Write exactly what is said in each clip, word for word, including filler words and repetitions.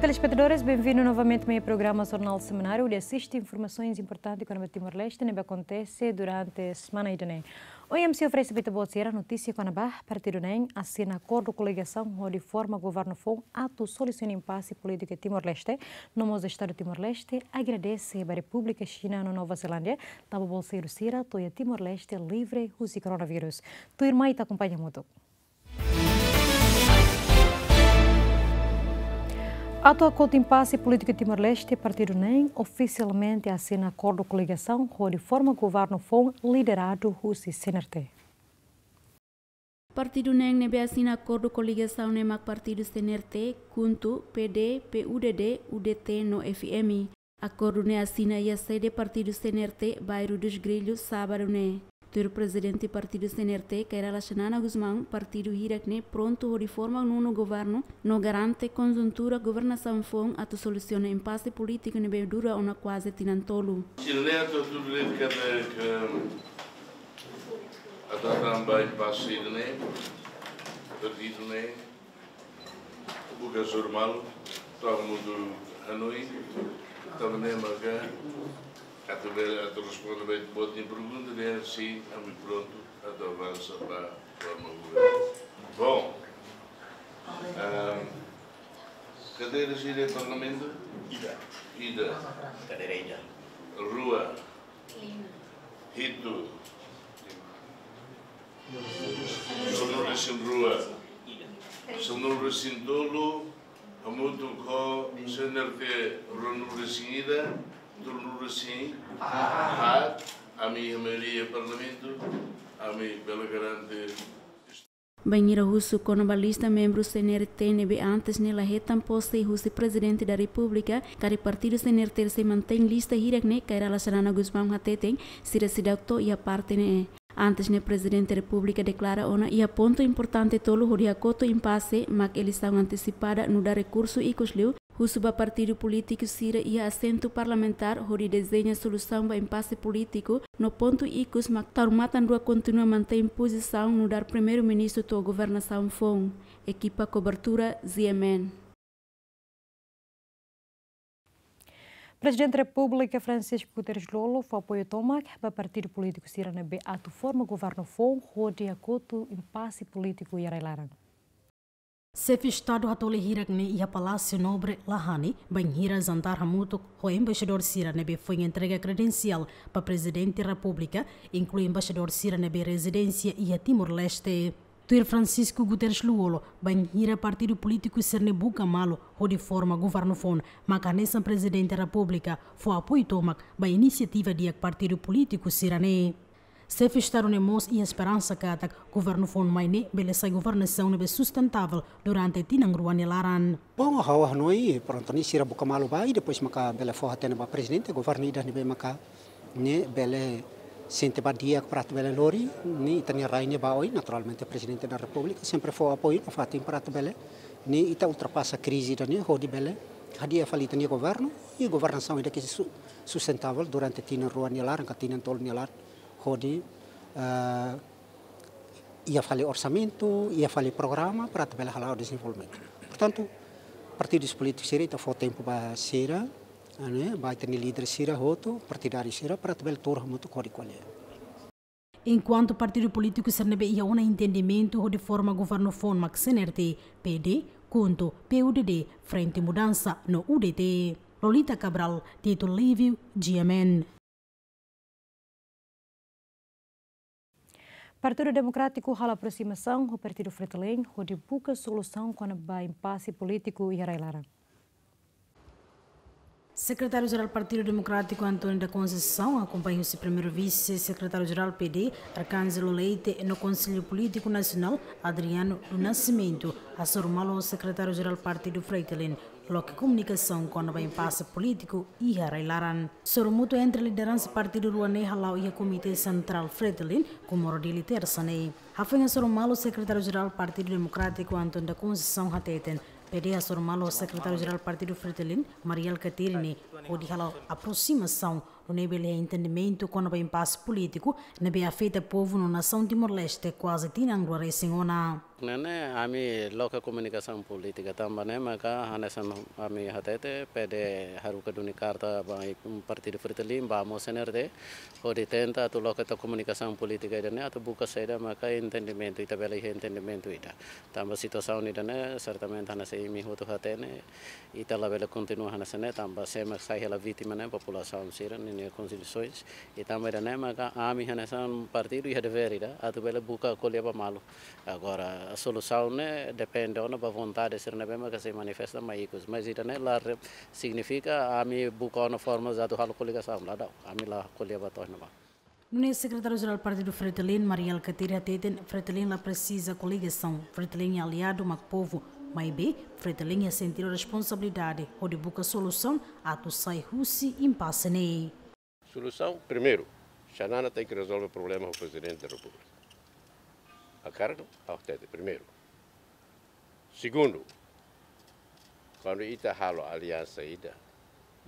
Telespetadores, benvindu novamente mai programa Jornál Semanáriu, hodi asiste informasaun importante kona-ba Timor-Leste ne'ebé akontese durante semana ida-ne'e. Ohin ami sei oferese ba ita-boot sira notísia kona-ba partidu neen asina akordu koligasaun hodi forma governu foun atu solusiona impase polítiku Timor-Leste, no mós Estadu Timor-Leste agradese ba Repúblika Xina no Nova Zelándia, tanba bolseiru sira to'o iha Timor-Leste livre husi koronavírus. Tuirmai ita akompaña hamutuk. Atu hakotu impase polítiku Timor-Leste, partidu neen ofisialmente asina akordu koligasaun hodi forma governu foun lideradu husi C N R T. Partidu neen ne'ebé asina akordu koligasaun ne'e mak partidu C N R T, KHUNTO, P D, P U D D, U D T no F M. Akordu ne'e asina iha sede partidu C N R T, Bairro dos Grilhos, sábadu ne'e. Tuir prezidente partidu C N R T, Kay Rala Xanana Gusmão, partidu hirak-ne'e prontu hodi forma nonu governu no garante konjuntura governasaun foun atu solusiona impase polítiku ne'ebé dura ona kuaze tinan tolu. Sira-ne'e atu tuir lei kada ke atu tamba impase ne'e, partidu ne'e buka sira malu, to'o hamutuk hanoin, tanba ne'e maka atu bele atu responde ba ita-boot nia pergunta ne'e, sin, ami prontu atu avansa ba forma governu. Bom, ehm, kadeira sira iha Parlamentu? Ida. Ida. Kadeira ida. Rua. Hitu. Sanulu-resin-rua. Sanulu-resin-tolu, hamutuk ho C N R T ruanulu-resin-ida, tolunulu-resin-haat, ami iha maioria Parlamentu, ami bele garante. Bainhira husu kona-ba lista membru C N R T ne'ebé antes ne'e la hetan pose husi Prezidente da Repúblika, karik partidu C N R T sei mantein lista hirak-ne'e, Kay Rala Xanana Gusmão hateten, sira seidauk to'o iha parte ne'e. Antes ne'e Prezidente Repúblika deklara ona iha pontu importante tolu hodi hakotu impase, mak eleisaun antesipada nu'udar rekursu ikus liu, husu ba partidu polítiku sira iha asentu parlamentár hodi dezeña solusaun ba impase polítiku, no pontu ikus mak taur matan-rua kontinua mantein pozisaun nu'udar Primeiru-Ministru to'o governasaun foun. Ekipa kobertura Z M N. Prezidente Repúblika Francisco Guterres Lú-Olo fó apoiu tomak ba partidu polítiku sira ne'ebé atu forma governu foun hodi hakotu impase polítiku iha rai-laran. Xefe Estadu hatoli hirak-ne'e iha Palásiu Nobre, Lahane, bainhira jantar hamutuk ho embaixadór sira ne'ebé foin entrega kredensiál ba Prezidente Repúblika, inklui embaixadór sira ne'ebé rezidénsia iha Timor-Leste. Tuir Francisco Guterres Lú-Olo, bainhira partidu polítiku sira-ne'e buka malu hodi forma governu foun, maka hanesan Prezidente Repúblika fó apoiu tomak ba inisiativa di'ak partidu polítiku sira-ne'e. Xefe Estadu ne'e mós iha esperansa katak governu foun mai ne'e bele sai governasaun ne'ebé sustentável durante tinan rua nia laran. Bom, ha'u hanoin, prontu, ne'e sira buka malu ba, i depois maka bele fó hatene ba Prezidente, governu ida ne'ebé maka ne'e bele sente ba di'ak para atu bele lori, ne'e ita-nia rai ne'e ba oin, naturalmente Prezidente da Repúblika sempre fó apoiu nafatin para atu bele, ne'e ita ultrapasa krize ida-ne'e, hodi bele hadi'a fali ita-nia governu, i governasaun ida ke su-, sustentável durante tinan rua nia laran, ka tinan tolu nia laran, hodi, eh, iha fali orsamentu, iha fali programa para atu bele hala'o dezenvolvimentu. Portantu, partidus polítikus sira ita fó tempu ba sira, ne'e, ba ita-nia líder sira hotu, partidáriu sira, para atu bele tuur hamutuk hodi ko'alia. Enkuantu partidu polítiku sira ne'ebé iha ona entendimentu hodi forma governu foun mak C N R T, P D, KHUNTO, P U D D, Frente Mudança, no U D T. Lolita Cabral, Tito Livio, G M N. Partidu Demokrátiku halo aprosimasaun ho Partidu Fretilin hodi buka solusaun kona-ba impase polítiku iha rai-laran. Sekretáriu-Jerál Partidu Demokrátiku António da Conceição, akompaña husi Primeiru Vise-Sekretáriu-Jerál P D, Arcângelo Leite, no Konsellu Polítiku Nasionál, Adriano do Nascimento, hasoru malu ho Sekretáriu-Jerál Partidu Fretilin, loke komunikasaun kona-ba impase polítiku iha rai-laran. Sorumutu entre lideransa partidu rua ne'e hala'o iha Komité Sentrál Fretilin, Comoro Dili, tersa ne'e. Hafoin hasoru malu, Sekretáriu-Jerál Partidu Demokrátiku António da Conceição hateten, P D hasoru malu ho Sekretáriu-Jerál Partidu Fretilin, Mari Alkatiri ne'e, hodi hala'o aprosimasaun Nune'e bele entendimentu kona-ba impase polítiku ne'ebé afeta povu no nasaun Timor-Leste kuaze tinan rua resin ona. Ne'e ne'e, ami loke komunikasaun polítika tanba ne'e maka hanesan ami hatete, P D haruka duni karta ba partidu Fretilin, ba mós C N R T, hodi tenta atu loke to'o komunikasaun polítika ida-ne'e atu buka saida maka entendimentu, ita bele iha entendimentu ida. Tanba situasaun ida-ne'e, sertamente hanesan imi hotu hatene, ita labele kontinua hanesan ne'e, tanba sé mak sai hela vítima ne'e, populasaun sira ninia kondisoens. I tanba ida-ne'e maka ami hanesan partidu iha devér ida atu bele buka ko'alia ba malu. Agora, solusaun ne'e depende ona ba vontade sira ne'ebé maka sei manifesta mai ikus. Mas ida-ne'e la re-, signifika ami buka ona forma atu halo koligasaun, la daudaun. Ami la ko'alia ba to'o iha ne'ebá. Nune'e Sekretáriu Jerál Partidu Fretilin, Mari Alkatiri hateten, Fretilin la presiza koligasaun, Fretilin nia aliadu mak povu, maibé Fretilin iha sentidu responsabilidade hodi buka solusaun atu sai husi impase ne'e. Solusaun, primeiru, Xanana tenke rezolve problema ho Prezidente da Repúblika. Hakarak, ha'u hatete, primeiru. Segundu, kuandu ita halo aliansa ida,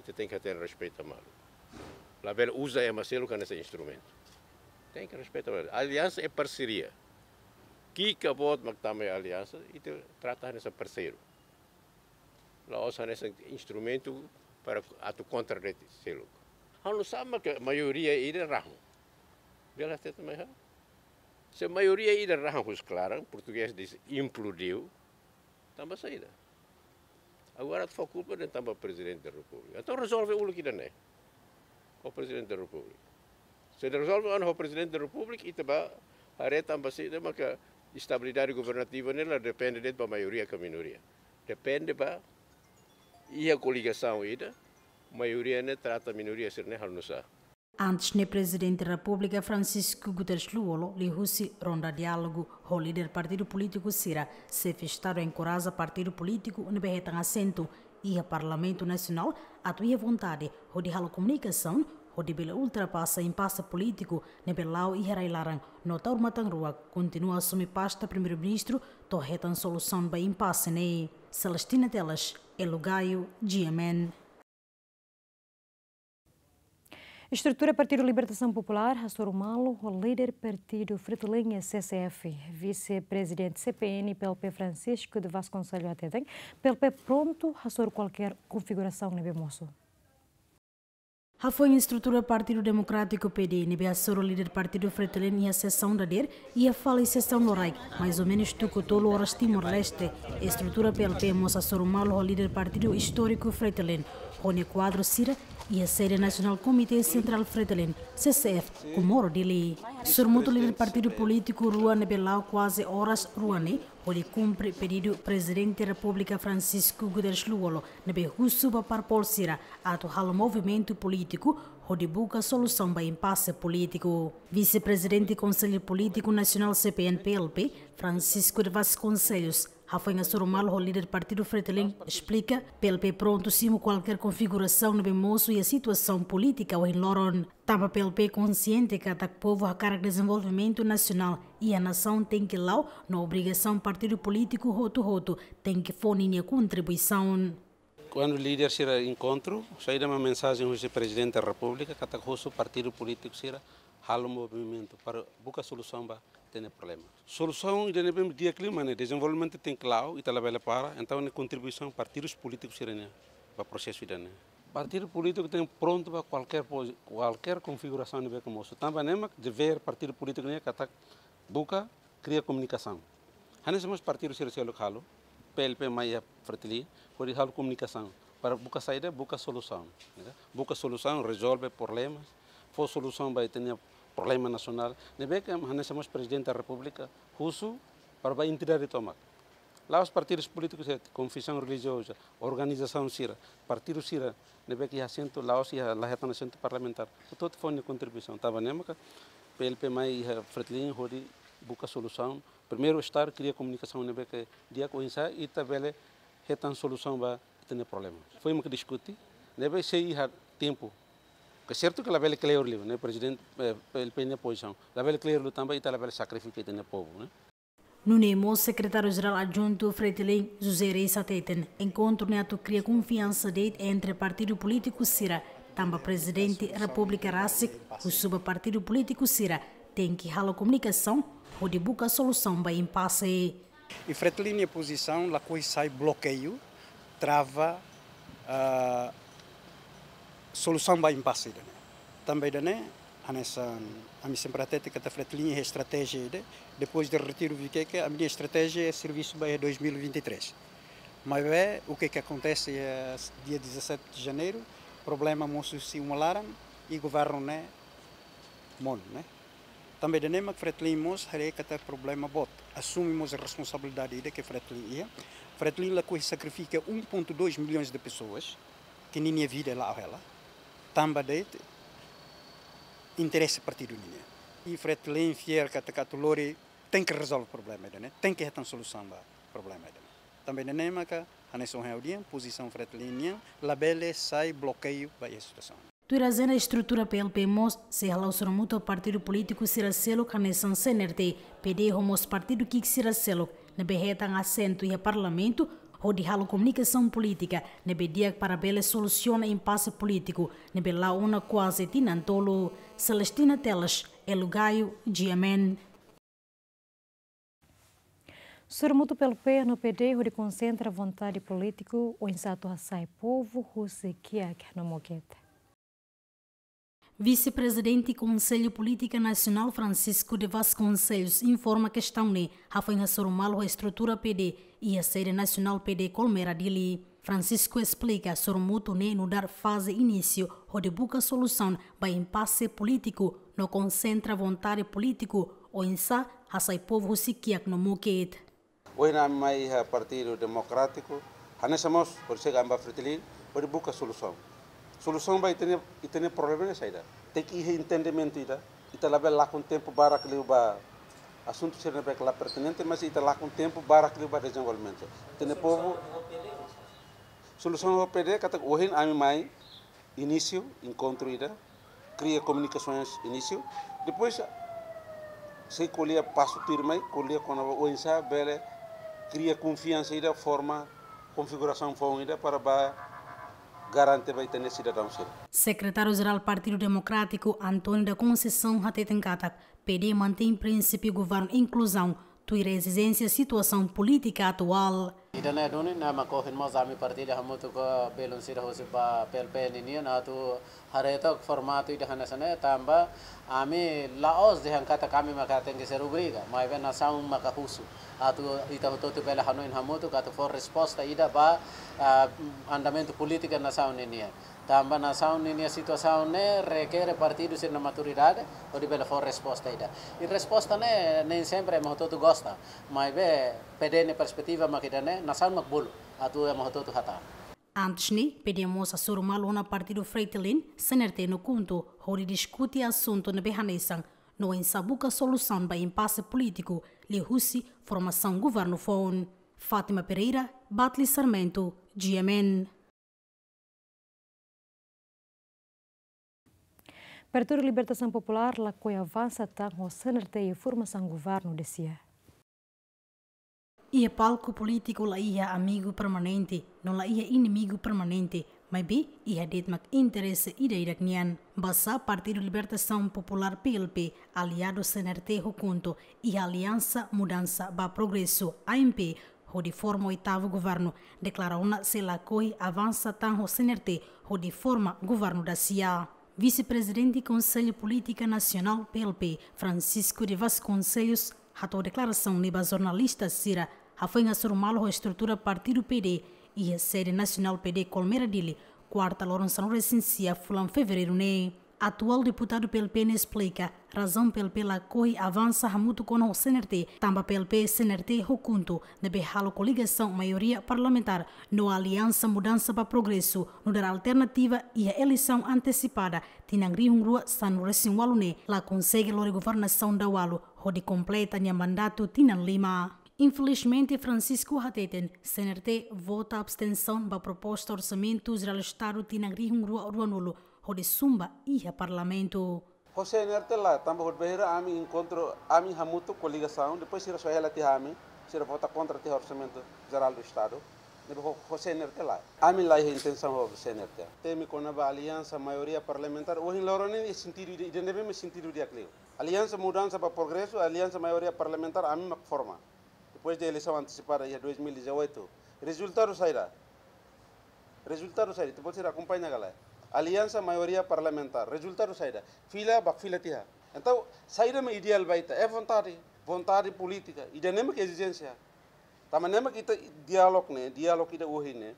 ita tenke hatene respeita malu. Labele uza ema seluk hanesan instrumentu. Tenke respeita malu. Aliansa é parseria. Kika boot mak tama iha aliansa, ita trata hanesan parseiru. La'ós hanesan instrumentu para atu kontra de'it seluk. Ha'u nusá mak maioria ida rahun. Bele hatete mai ha'u. Se maioria ida rahun husi klaran, portugés diz implodiu, tanba saida? Agora atu fó kulpa de'it tanba Prezidente da Repúblika. Entaun rezolve uluk ida-ne'e ho Prezidente da Repúblika. Se rezolve ona ho Prezidente da Repúblika, ita bá haree tanba saida maka estabilidade governativa ne'e la depende de'it ba maioria ka minoria. Depende ba iha koligasaun ida, maioria ne'e trata minoria sira-ne'e halo nusá. Antes ne'e Prezidente Repúblika Francisco Guterres Lú-Olo liuhusi ronda diálogu ho líder partidu polítiku sira, Xefe Estadu enkoraja partidu polítiku ne'ebé hetan asentu iha Parlamentu Nasionál atu iha vontade hodi halo komunikasaun hodi bele ultrapasa impase polítiku ne'ebé la'o iha rai-laran no tau matan-ruak kontinua asume pasta Primeiru-Ministru to'o hetan solusaun ba impase ne'e. Celestina Teles, Elo Gaio, G M N. Estrutura Partidu Libertasaun Populár hasoru malu ho líder partidu Fretilin, C C F. Vise-Prezidente C P N P L P Francisco de Vasconcelos hateten, P L P prontu hasoru kualkér konfigurasaun ne'ebé mosu. Hafoin estrutura Partidu Demokrátiku, P D, ne'ebé hasoru líder partidu Fretilin iha sesaun dadeer, iha fali sesaun loraik, mais ou menus tuku tolu oras Timor-Leste, estrutura P L P mós hasoru malu ho líder partidu istóriku Fretilin, ho nia kuadru sira, iha sede Nasionál Komité Sentrál Fretilin, C C F, Comoro, Dili. Sorumutu líder partidu polítiku rua ne'ebé la'o kuaze oras rua ne'e, hodi kumpre pedidu Prezidente Repúblika Francisco Guterres Lú-Olo, ne'ebé husu ba parpol sira atu halo movimentu polítiku hodi buka solusaun ba impase polítiku. Vise-Prezidente Konsellu Polítiku Nasionál C P N P L P, Francisco de Vasconcelos, hafoin hasoru malu ho líder partidu Fretilin, esplika, P L P prontu simu kualkér konfigurasaun ne'ebé mosu iha situasaun polítika ohin loron. Tanba P L P konsiente katak povu hakarak dezenvolvimentu nasionál iha nasaun tenke la'o, no obrigasaun partidu polítiku hotu-hotu tenke fó ninia kontribuisaun. Kuandu líder sira enkontru, saida mak mensajen husi Prezidente Repúblika, katak husu partidu polítiku sira halo movimentu para buka solusaun ba ita-nia problema. Solusaun ida-ne'ebé di'ak liu mak ne'e, dezenvolvimentu tenke la'o, ita labele para, entaun ne'e kontribuisaun partidus polítiku sira-nian ba prosesu ida-ne'e. Partidu polítiku tenke prontu ba kualkér pozi-, kualkér konfigurasaun ne'ebé ke mosu. Tanba ne'e mak devér partidu polítiku ne'e katak buka kria komunikasaun. Hanesan mós partidu sira seluk halo, P L P mai iha Fretilin, hodi halo komunikasaun para buka saida, buka solusaun, ya. Buka solusaun, rezolve problemas, fó solusaun ba ita-nia problema nasionál. Ne'ebé ke hanesan mós Prezidente Repúblika husu para ba entidade tomak. La'ós partidus polítikus sira, konfesaun relijioza, organizasaun sira, partidu sira ne'ebé ke iha asentu, la'ós iha, la hetan asentu parlamentár. Hotu-hotu fó nia kontribuisaun. Tanba ne'e maka P L P mai iha Fretilin hodi buka solusaun. Primeiru estar kria komunikasaun ne'ebé ke di'ak, oinsá ita bele hetan solusaun ba ita-nia problema. Foin maka diskute, ne'ebé sei iha tempu. Ke sertu ke labele kleur liu, ne'e Prezidente, eh, P L P nia pozisaun. Labele kleur liu tanba ita labele sakrifika ita-nia povu, ne'e. Nune'e mós Sekretáriu Jerál Adjuntu Fretilin, José Reis hateten, enkontru ne'e atu kria konfiansa de'it entre partidu polítiku sira, Tanba Prezidente Repúblika rasik husu ba partidu polítiku sira tenke halo komunikasaun hodi buka solusaun ba impase. I Fretilin nia pozisaun lakohi sai blokeiu, trava, ah, solusaun ba impase ida-ne'e. Tanba ida-ne'e, hanesan ami sempre hatete katak Fretilin iha estratéjia ida, depois de retiru Viqueque, ami-nia estratéjia é servisu ba iha dois mil e vinte e três. Maibé, o que que acontece é dia dezassete de janeiro, problema mosu husi uma laran i governu ne'e monu, ne'e? Tanba ida-ne'e mak Fretilin mós haree katak problema boot. Asume mós responsabilidade ida ke Fretilin iha. Fretilin lakohi sakrifika um ponto dois milhões de pessoas, ke ninia vida la'o hela. Tanba de'it interese partidu nian. I Fretilin fiar katak atu lori tenke rezolve problema ida-ne'e, tenke hetan solusaun ba problema ida-ne'e. Tanba ida-ne'e maka hanesan ohin ha'u dehan, pozisaun Fretilin nian labele sai blokeiu ba iha situasaun. Tuir ajenda, estrutura P L P mós sei hala'o sorumutu partidu polítiku sira seluk hanesan C N R T, P D ho mós partidu ki'ik sira seluk ne'ebé hetan asentu iha parlamentu, hodi halo komunikasaun polítika ne'ebé di'ak para bele solusiona impase polítiku ne'ebé la'o ona kuaze tinan tolu. Celestina Teles, Elo Gaio, G M N. Sorumutu P L P no P D hodi konsentra vontade polítiku oinsá atu hasai povu husi kiak no mokit. Vise-Prezidente Konsellu Polítika Nasionál Francisco de Vasconcelos informa kestaun ne'e hafoin hasoru malu ho estrutura P D iha sede nasionál P D Colmera, Dili. Francisco esplika sorumutu ne'e nu'udar faze inísiu hodi buka solusaun ba impase polítiku no konsentra vontade polítiku oinsá hasai povu husi kiak no mokit. Ohin ami mai iha Partidu Demokrátiku, hanesan mós hodi chega ami ba Fretilin, hodi buka solusaun. Solusaun ba ita-nia, ita-nia problema ne'e saida? Tenke iha entendimentu ida, ita labele lakon tempu barak liu ba asuntu sira ne'ebé la pertinente, mas ita lakon tempu barak liu ba dezenvolvimentu. Ita-nia povu, solusaun ho P D, katak ohin ami mai, inísiu enkontru ida, kria komunikasaun inísiu, depois sei ko'alia pasu tuirmai, ko'alia kona-ba oinsá bele kria konfiansa ida, forma konfigurasaun foun ida para ba garante ba ita-nia sidadaun sira. Sekretáriu-Jerál Partidu Demokrátiku, António da Conceição, hateten katak P D mantein prinsípiu governu inkluzaun tuir ezijénsia situasaun polítika atuál. Ida-ne'e duni, ne'e mak ohin mós ami partilla hamutuk ho belun sira husi ba P L P ninian atu haree took formatu ida hanesan ne'e tanba ami la'ós dehan katak ami maka tenke ser obriga, maibé nasaun maka husu atu ita hotu-hotu bele hanoin hamutuk atu fó resposta ida ba, ah, andamentu polítika nasaun ninian. Tanba nasaun ninia situasaun ne'e rekere partidu sira-nia maturidade hodi bele fó resposta ida. I resposta ne'e nem sempre ema hotu-hotu gosta. Maibé P D nia perspetiva mak ida-ne'e, nasaun mak bolu atu ema hotu-hotu hatán. Antes ne'e, P D mós hasoru malu ona partidu Fretilin, C N R T no KHUNTO, hodi diskute asuntu ne'ebé hanesan, no oinsá buka solusaun ba impase polítiku liuhusi formasaun governu foun. Fátima Pereira, Batli Sarmento, G M N. Partidu Libertasaun Populár lakohi avansa tan ho C N R T iha formasaun governu de sia. Iha palku polítiku la iha amigu permanente, no la iha inimigu permanente, maibé iha de'it mak interese ida-idak nian. Basá Partidu Libertasaun Populár, P L P, aliadu C N R T ho KHUNTO, iha Aliansa Mudansa ba Progresu, A M P, hodi forma oitavu governu, deklara ona sei lakohi avansa tan ho C N R T hodi forma governu dasia. Vise-Prezidente Konsellu Polítika Nasionál, P L P, Francisco de Vasconcelos, hato'o deklarasaun ne'e ba jornalista sira hafoin hasoru malu ho estrutura partidu P D iha sede nasionál P D Colmera, Dili, kuarta loron sanulu-resin-sia fulan Fevereiru ne'e. Atuál deputadu P L P ne'e esplika razaun P L P lakohi avansa hamutuk ona ho C N R T, tanba P L P, C N R T ho KHUNTO ne'ebé halo koligasaun maioria parlamentár no Aliansa Mudansa ba Progresu nu'udar alternativa iha eleisaun antesipada tinan rihun rua sanulu-resin-ualu ne'e la konsege lori governasaun dala ualu hodi kompleta nia mandatu tinan lima. Infelizmente, Francisco hateten, C N R T vota abstensaun ba proposta Orsamentu Jerál Estadu tinan rihun rua ruanulu hodi zumba iha Parlamentu. Ho C N R T lae, tanba hodi bainhira ami enkontru, ami hamutuk koligasaun, depois sira soe hela tiha ami, sira vota kontra tiha Orsamentu Jerál do Estadu. Ne'ebé ho, ho C N R T lae. Ami la iha intensaun ho C N R T. Temi kona-ba aliansa maioria parlamentár, ohin loron ne'e sentidu ida, ida ne'ebé mak sentidu di'ak liu. Aliansa Mudansa ba Progresu, aliansa maioria parlamentár, ami mak forma. Depois de eleisaun antesipada iha dois mil e dezoito. Rezultadu saida? Rezultadu saida? Ita-boot sira akompaña ka lae? Aliansa maioria parlamentár. Rezultadu saida? Fila, bá fila tiha. Entaun, saida mak ideál ba ita? É vontade. Vontade polítika. Ida ne'e mak ezijénsia. Tanba ne'e mak ita diálogu ne'e, diálogu ida ohin ne'e.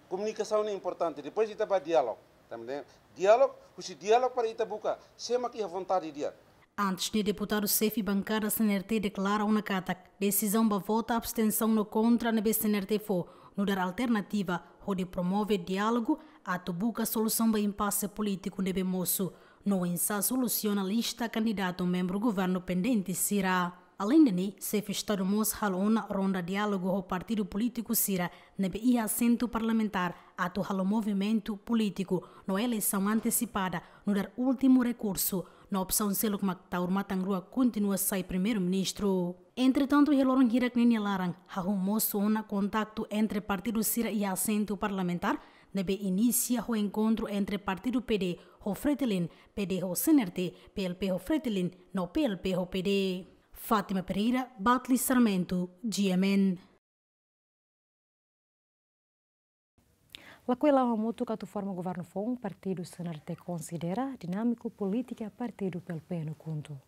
Komunikasaun ne'e importante. Depois ita bá diálogu. Tanba ne'e diálogu, husi diálogu para ita buka sé mak iha vontade di'ak. Antes ne'e, deputadu xefe bankada C N R T deklara ona katak desizaun ba vota abstensaun no kontra ne'ebé C N R T fó nu'udar alternativa hodi promove diálogu atu buka solusaun ba impase polítiku ne'ebé mosu, no oinsá solusiona lista kandidatu membru governu pendente sira. Aleinde ne'e, xefe Estadu mós halo ona ronda diálogu ho partidu polítiku sira ne'ebé iha asentu parlamentár atu halo movimentu polítiku no eleisaun antesipada nu'udar últimu rekursu, no opsaun seluk mak Taur Matan Ruak kontinua sai primeiru-ministru. Entretantu, iha loron hirak ne'e nia laran, hahú mosu ona kontaktu entre partidu sira iha asentu parlamentár, ne'ebé inisia ho enkontru entre partidu P D ho Fretilin, P D ho C N R T, P L P ho Fretilin, no P L P ho P D. Fátima Pereira, Batli Sarmento, G M N. Lakohi la'o hamutuk atu forma governu foun, partidu C N R T konsidera dinámiku polítika partidu P L P no KHUNTO.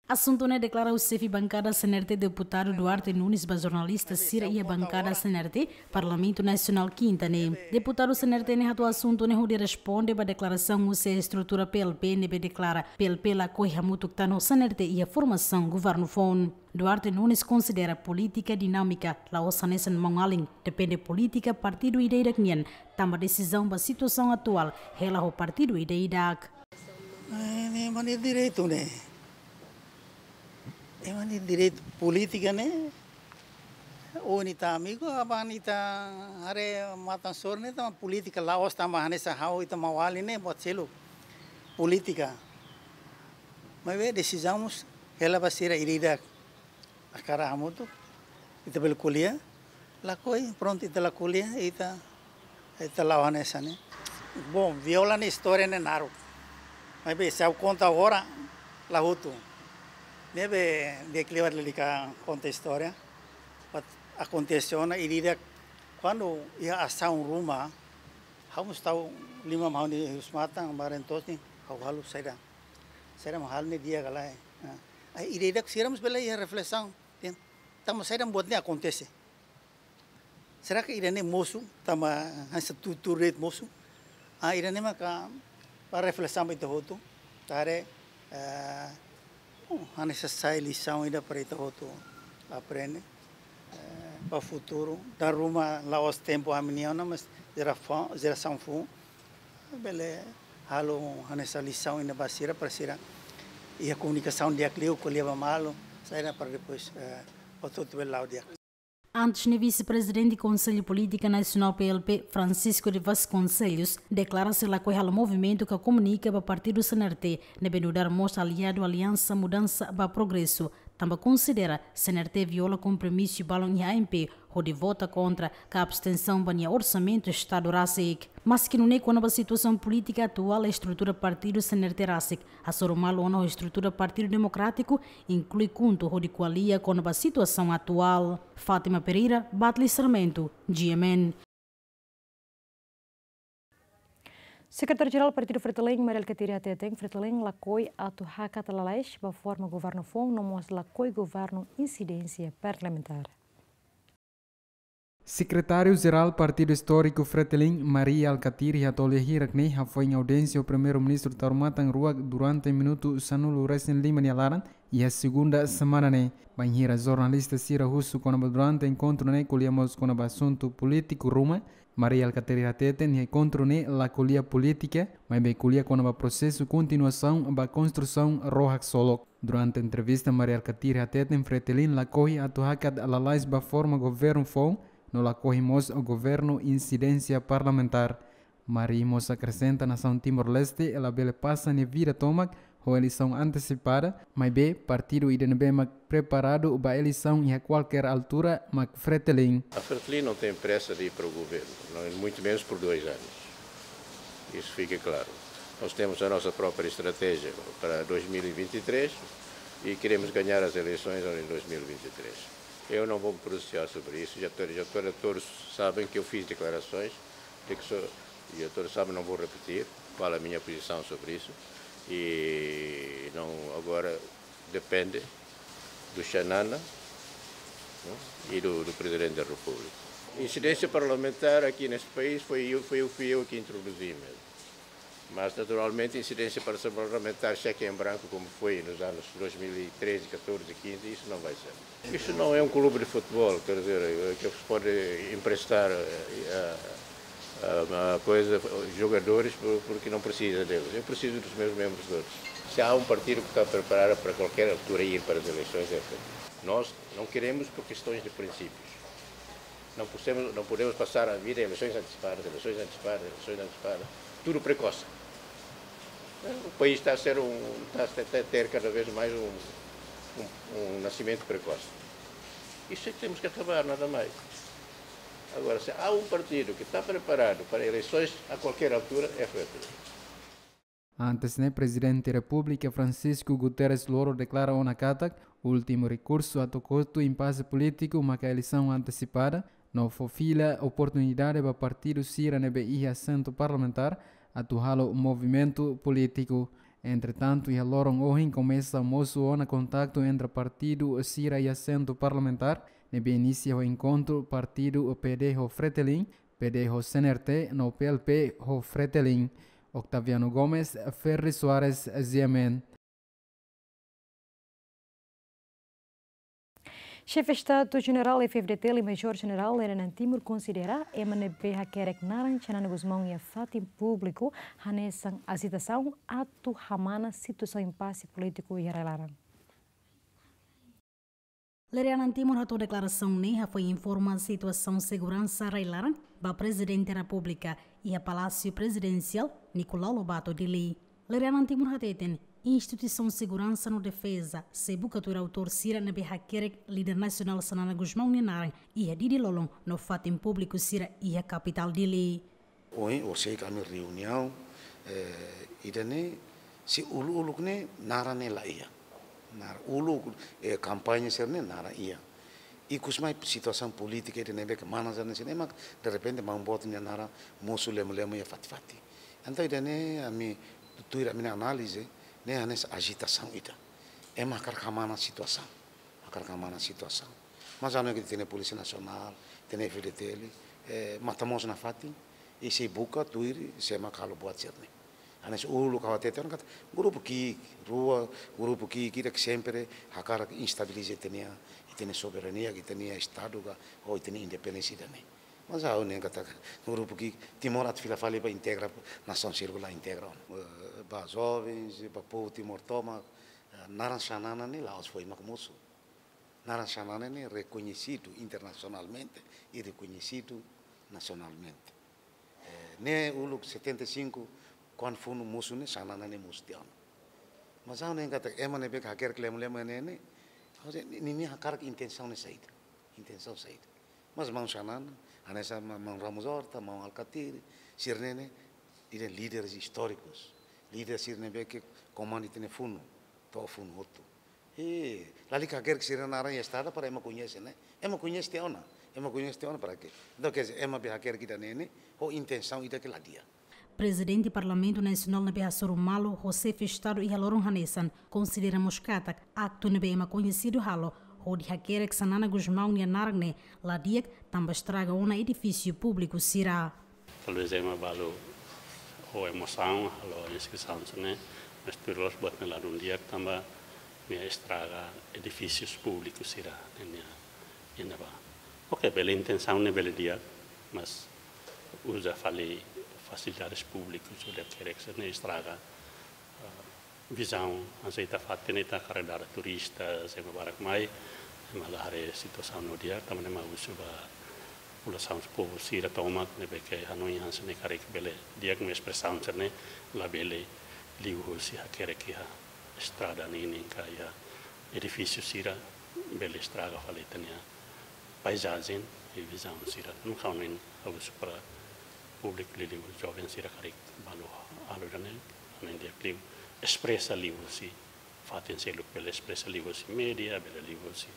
Asuntu ne'e deklara husi xefe bankada C N R T, deputadu Duarte Nunes, ba jornalista sira iha bankada C N R T, Parlamentu Nasionál, kinta ne'e. Deputadu C N R T ne'e hato'o asuntu ne'e hodi responde ba deklarasaun husi estrutura P L P ne'ebé deklara P L P lakohi hamutuk tan ho C N R T iha formasaun governu foun. Duarte Nunes konsidera polítika dinámika la'ós hanesan maun-alin, depende polítika partidu ida-idak nian, tanba desizaun ba situasaun atuál hela ho partidu ida-idak. Eh, ne'e mak nia direitu ne'e. Ne'e mak nia direitu polítika ne'e. Ou ita amigu, aban ita haree matan-sorin ne'e, tanba polítika la'ós tanba hanesan ha'u ita maun-alin ne'e, buat seluk. Polítika. Maibé desizaun mós hela ba sira ida-idak. Hakarak hamutuk, ita bele ko'alia, lakohi, prontu, ita la ko'alia, ita, ita la'o hanesan ne'e. Bom, viola ne'e istória ne'e naruk. Maibé, se ha'u konta agora, la hotu. Ne'ebé, di'ak liu lalika konta istória. Buat akontese ona, ida-idak, kuandu iha asaun ruma, ha'u mós tau liman mahon di husmatan, bareng to'os ne'e, ha'u halo saida. Saida mak halo ne'e di'ak ka lae. Ah. Ai, ida-idak sira mós bele iha reflesaun, ten. Tanba saida buat ne'e akontese. Será que ida-ne'e mosu, tanba hanesan tutur de'it mosu? Ah, ida-ne'e maka para reflesaun ba ita hotu. Ita haree, eh, oh, hanesan sai lisaun ida para ita hotu aprende. Eh, ba futuru, dala ruma la'ós tempu ami-nian ona, mas jerasaun, jerasaun foun bele halo hanesan lisaun ida ba sira, para sira iha komunikasaun di'ak liu, ko'alia ba malu, saida para depois, eh, hotu-hotu bele la'o di'ak. Antes ne'e, vise-prezidente Konsellu Polítika Nasionál P L P, Francisco de Vasconcelos, deklara sei lakohi halo movimentu ka komunika ba partidu C N R T, ne'ebé nu'udar mós aliadu Aliansa Mudansa ba Progresu, tanba konsidera C N R T viola kompromisu balun iha A M P hodi vota kontra ka abstensaun ba nia orsamentu Estadu rasik. Maski nune'e, kona-ba situasaun polítika atuál, estrutura partidu C N R T rasik hasoru malu ona ho estrutura Partidu Demokrátiku, inklui KHUNTO, hodi ko'alia kona-ba situasaun atuál. Fátima Pereira, Batli Sarmento, G M N. Sekretáriu-Jerál Partidu Fretilin, Mari Alkatiri, hateten Fretilin lakohi atu hakat lalais ba forma governu foun no mós lakohi governu insidénsia parlamentár. Sekretáriu-Jerál Partidu Istóriku Fretilin, Mari Alkatiri, hato'o lia hirak ne'e hafoin audiénsia ho Primeiru-Ministru Taur Matan Ruak durante minutu sanulu-resin-lima nia laran, iha segunda semana ne'e. Bainhira jornalista sira husu kona-ba durante enkontru ne'e ko'alia mós kona-ba asuntu polítiku ruma, Mari Alkatiri hateten iha enkontru ne'e la ko'alia polítika, maibé ko'alia kona-ba prosesu kontinuasaun ba konstrusaun ró haksolok. Durante entrevista, Mari Alkatiri hateten Fretilin lakohi atu hakat lalais ba forma governu foun, no lakohi mós governu insidénsia parlamentár. Mari mós akresenta nasaun Timor-Leste labele pasa nia vida tomak ho eleisaun antesipada, maibé partidu ida ne'ebé mak preparadu ba eleisaun iha kualkér altura mak Fretilin. A Fretilin não tem pressa de ir para o governo, não, muito menos por dois anos. Isso fica claro. Nós temos a nossa própria estratégia para dois mil e vinte e três e queremos ganhar as eleições em dois mil e vinte e três. Eu não vou me pronunciar sobre isso, já, to- já, to- todos sabem que eu fiz declarações de que sou, e todos sabem, não vou repetir qual a minha posição sobre isso. E não, agora depende do Xanana, né, e do, do Presidente da República. Incidência parlamentar aqui neste país foi eu, foi eu, fui eu que introduzi mesmo. Mas, naturalmente, incidência parlamentar, cheque em branco, como foi nos anos dois mil e treze, catorze, quinze, isso não vai ser. Isso não é um clube de futebol, quer dizer, que se pode emprestar eh, a, a, a coisa, jogadores, por- porque não precisa deles. Eu preciso dos meus membros todos. Se há um partido que está preparado para qualquer altura ir para as eleições, é feito. Nós não queremos por questões de princípios. Não podemos, não podemos passar a vida em eleições antecipadas, eleições antecipadas, eleições antecipadas. Tudo precoce. O país está a ser um, está a ter, ter cada vez mais um, um, um nascimento precoce. Isso é que temos que acabar, nada mais. Agora, se há um partido que está preparado para eleições a qualquer altura, é F P P. Antes ne'e, Prezidente Repúblika Francisco Guterres Loro deklara ona katak últimu rekursu atu kotu impase polítiku maka eleisaun antesipada, no fó fila oportunidade ba partidu sira ne'ebé iha asentu parlamentár atu halo movimentu polítiku. Entretantu, iha loron ohin komesa mosu ona kontaktu entre partidu sira iha asentu parlamentár, ne'ebé inisia ho enkontru partidu P D ho Fretilin, P D ho C N R T, no P L P ho Fretilin. Octaviano Gomes, Ferri Soares, G M N. Xefe Estadu Jenerál F-FDTL, Major Jenerál Lere Naan Timur konsidera ema ne'ebé hakerek naran Xanana Gusmão iha fatin públiku hanesan ajitasaun atu hamana situasaun impase polítiku iha rai-laran. Lere Naan Timur hato'o deklarasaun ne'e hafoin informa situasaun seguransa rai-laran ba Prezidente Repúblika iha Palásiu Prezidensiál Nicolau Lobato, Dili. Lere Naan Timur hateten, instituisaun seguransa no defeza sei buka tuir autór sira ne'ebé hakerek líder nasionál Xanana Gusmão nia naran iha Dili lolon no fatin públiku sira iha kapitál Dili. Ohin, orsida ami reuniaun, eh, ida-ne'e, sei uluk-uluk ne'e naran ne'e la iha. Naran uluk, eh, kampaña sira-ne'e naran iha. Ikus mai situasaun polítika ida ne'ebé ke mana sira-ne'e, sira-ne'e mak derrepente maun boot nia naran mosu lemu-lemu iha fatin-fatin. Entaun ida-ne'e ami tuir ami-nia análize, ne'e hanesan ajitasaun ida. Ema hakarak hamana situasaun. Hakarak hamana situasaun. Mas anu ke iha Polísia Nasionál, iha F-FDTL, eh, matan-moos nafatin, i sei buka tuir sé mak halo buat sira-ne'e. Hanesan uluk ha'u hatete ona katak grupu ki'ik, rua grupu ki'ik ida ke sempre hakarak estabiliza ita-nia, ita-nia soberania, ita-nia Estadu ka, ou ita-nia independénsia ida-ne'e. Mas ha'u hanoin katak grupu ki'ik, Timor atu fila fali ba integra, nasaun sira-ne'e la integra ona. Eh, ba jovens, ba povu Timor tomak, eh, naran Xanana ne'e la'ós foin mak mosu. Naran Xanana ne'e rekoñesidu internasionalmente i rekoñesidu nasionalmente. Eh, ne'e uluk setenta e cinco, kuandu funu mosu ne'e Xanana ne'e mosu tiha ona. Mas ha'u hanoin katak ema ne'ebé ke hakerek lemu-lemu ne'e ne'e, ha'u dehan, ni-, ninia hakarak intensaun ne'e saida. Intensaun saida. Mas maun Xanana, hanesan ma-, maun Ramos Horta, maun Alkatiri, sira-ne'e ne'e, ida líderes istórikus. Líder sira ne'ebé ke komanda ita-nia funu, to'o funu hotu. I lalika hakerek sira-nia naran iha estrada para ema koñese, ne'e? Ema koñese tiha ona, ema koñese tiha ona para ke? Entaun, ke ema be hakerek ida-ne'e ne'e, ho intensaun ida ke la di'ak. Prezidente Parlamentu Nasionál ne'ebé hasoru malu ho Xefe Estadu iha loron hanesan, konsidera mós katak aktu ne'ebé ema koñesidu halo hodi hakerek Xanana Gusmão nia naran ne'e la di'ak, tanba estraga ona edifísiu públiku sira. Talvés ema balu ho emosaun halo inskrisaun sira-ne'e, mas tuir loos buat ne'e ladún di'ak tanba nia estraga edifísius públiku sira ne'e nia, nia ne'ebá. Oke, bele intensaun ne'e bele di'ak, mas uza fali fasilidades públikus, uza kerek sira-ne'e estraga, ah, vizaun, hanesan ita fatin ne'e ita hakarak dada turista, ema barak mai, ema la haree situasaun ne'e di'ak, tanba ne'e mak husu ba populasaun, povu sira tomak ne'ebé ke hanoin hanesan ne'e karik bele di'ak, maibé espresaun sira-ne'e labele liuhusi hakerek iha Estrada ninin ka iha edifísiu sira bele estraga fali ita-nia paizajen i vizaun sira. No kaso ne'e ha'u husu para públiku liuliu joven sira karik balu halo ida-ne'e, anu di'ak liu espresa liuhusi fatin seluk, bele espresa liuhusi média, bele liuhusi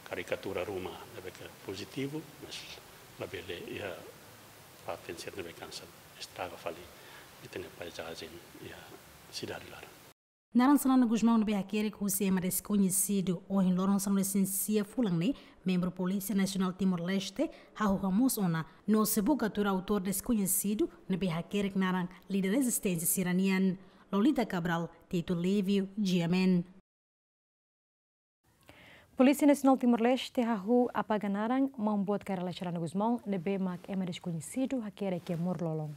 karikatura ruma ne'ebé ke pozitivu, mas labele iha fatin sira ne'ebé hanesan estraga fali ita-nia paizajen iha sidade laran. Naran Xanana Gusmão ne'ebé hakerek husi ema deskoñesidu, ohin loron sanulu-resin-sia fulan ne'e, membru Polísia Nasionál Timor-Leste hahú hamoos ona no sei buka tuir autór deskoñesidu ne'ebé hakerek naran líder rezisténsia sira-nian. Lolita Cabral, Tito Lívio, G M N. Polísia Nasionál Timor-Leste hahú apaga naran maun boot Kay Rala Xanana Gusmão ne'ebé mak ema deskoñesidu hakerek iha moru-lolon.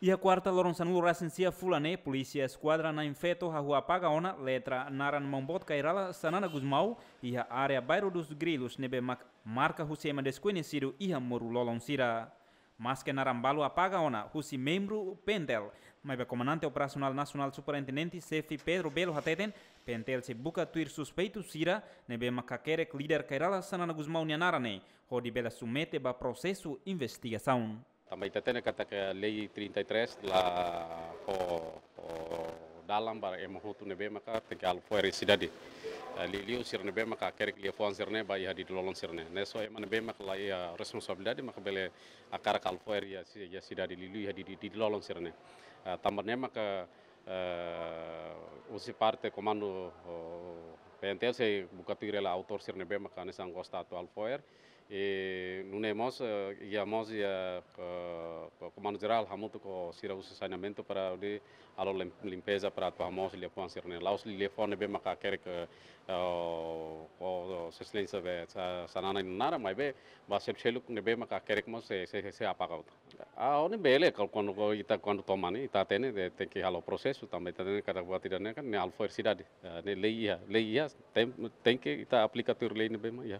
Iha kuarta loron sanulu-resin-sia fulan ne'e, Polísia Eskuadra Na'in Feto hahú apaga ona letra naran maun boot Kay Rala Xanana Gusmão iha área Bairro dos Grilos ne'ebé mak marka husi ema deskoñesidu iha moru-lolon sira. Maske naran balu apaga ona husi membru PNTL, maibé Komandante Operasionál Nasionál Superintendente Xefe Pedro Belo hateten, PNTL sei buka tuir suspeitu sira ne'ebé mak hakerek líder Kay Rala Xanana Gusmão nia naran ne'e, hodi bele submete ba prosesu investigasaun. Tanba ita hatene katak lei trinta e três la fó, fó dalan ba ema hotu ne'ebé maka tenke halo fo'er iha sidade. Eh, liuliu sira ne'ebé maka hakerek liafuan sira-ne'e ba iha didi-lolon sira-ne'e. Ne'e só ema ne'ebé maka la iha responsabilidade maka bele hakarak halo fo'er iha si-, iha sidade, liuliu iha didi, didi-lolon sira-ne'e. Eh, tanba ne'e maka, eh, husi parte komandu, oh, PNTL sei buka tuir hela autór sira ne'ebé maka hanesan gosta atu halo fo'er. I nune'e mós, eh, iha mós iha, eh, ko-, Komandu Jerál hamutuk ho sira husi saneamentu para hodi halo lim-, limpeza para atu hamoos liafuan sira-ne'e. La'ós liafuan ne'ebé maka hakerek, eh, o, o, o, Sua Exelénsia be Sa-, Xanana nia naran, maibé ba seluk-seluk ne'ebé maka hakerek mós sei, sei, sei apaga hotu. Ah, ne'e bele, kal-, kuandu, kuandu ita, kuandu toma ne'e, ita hatene, de, tenke halo prosesu, tanba ita hatene katak buat ida-ne'e kan, ne'e halo fo'er sidade. Eh, ne'e lei iha, lei iha, ten-, tenke ita aplika tuir lei ne'ebé mak iha.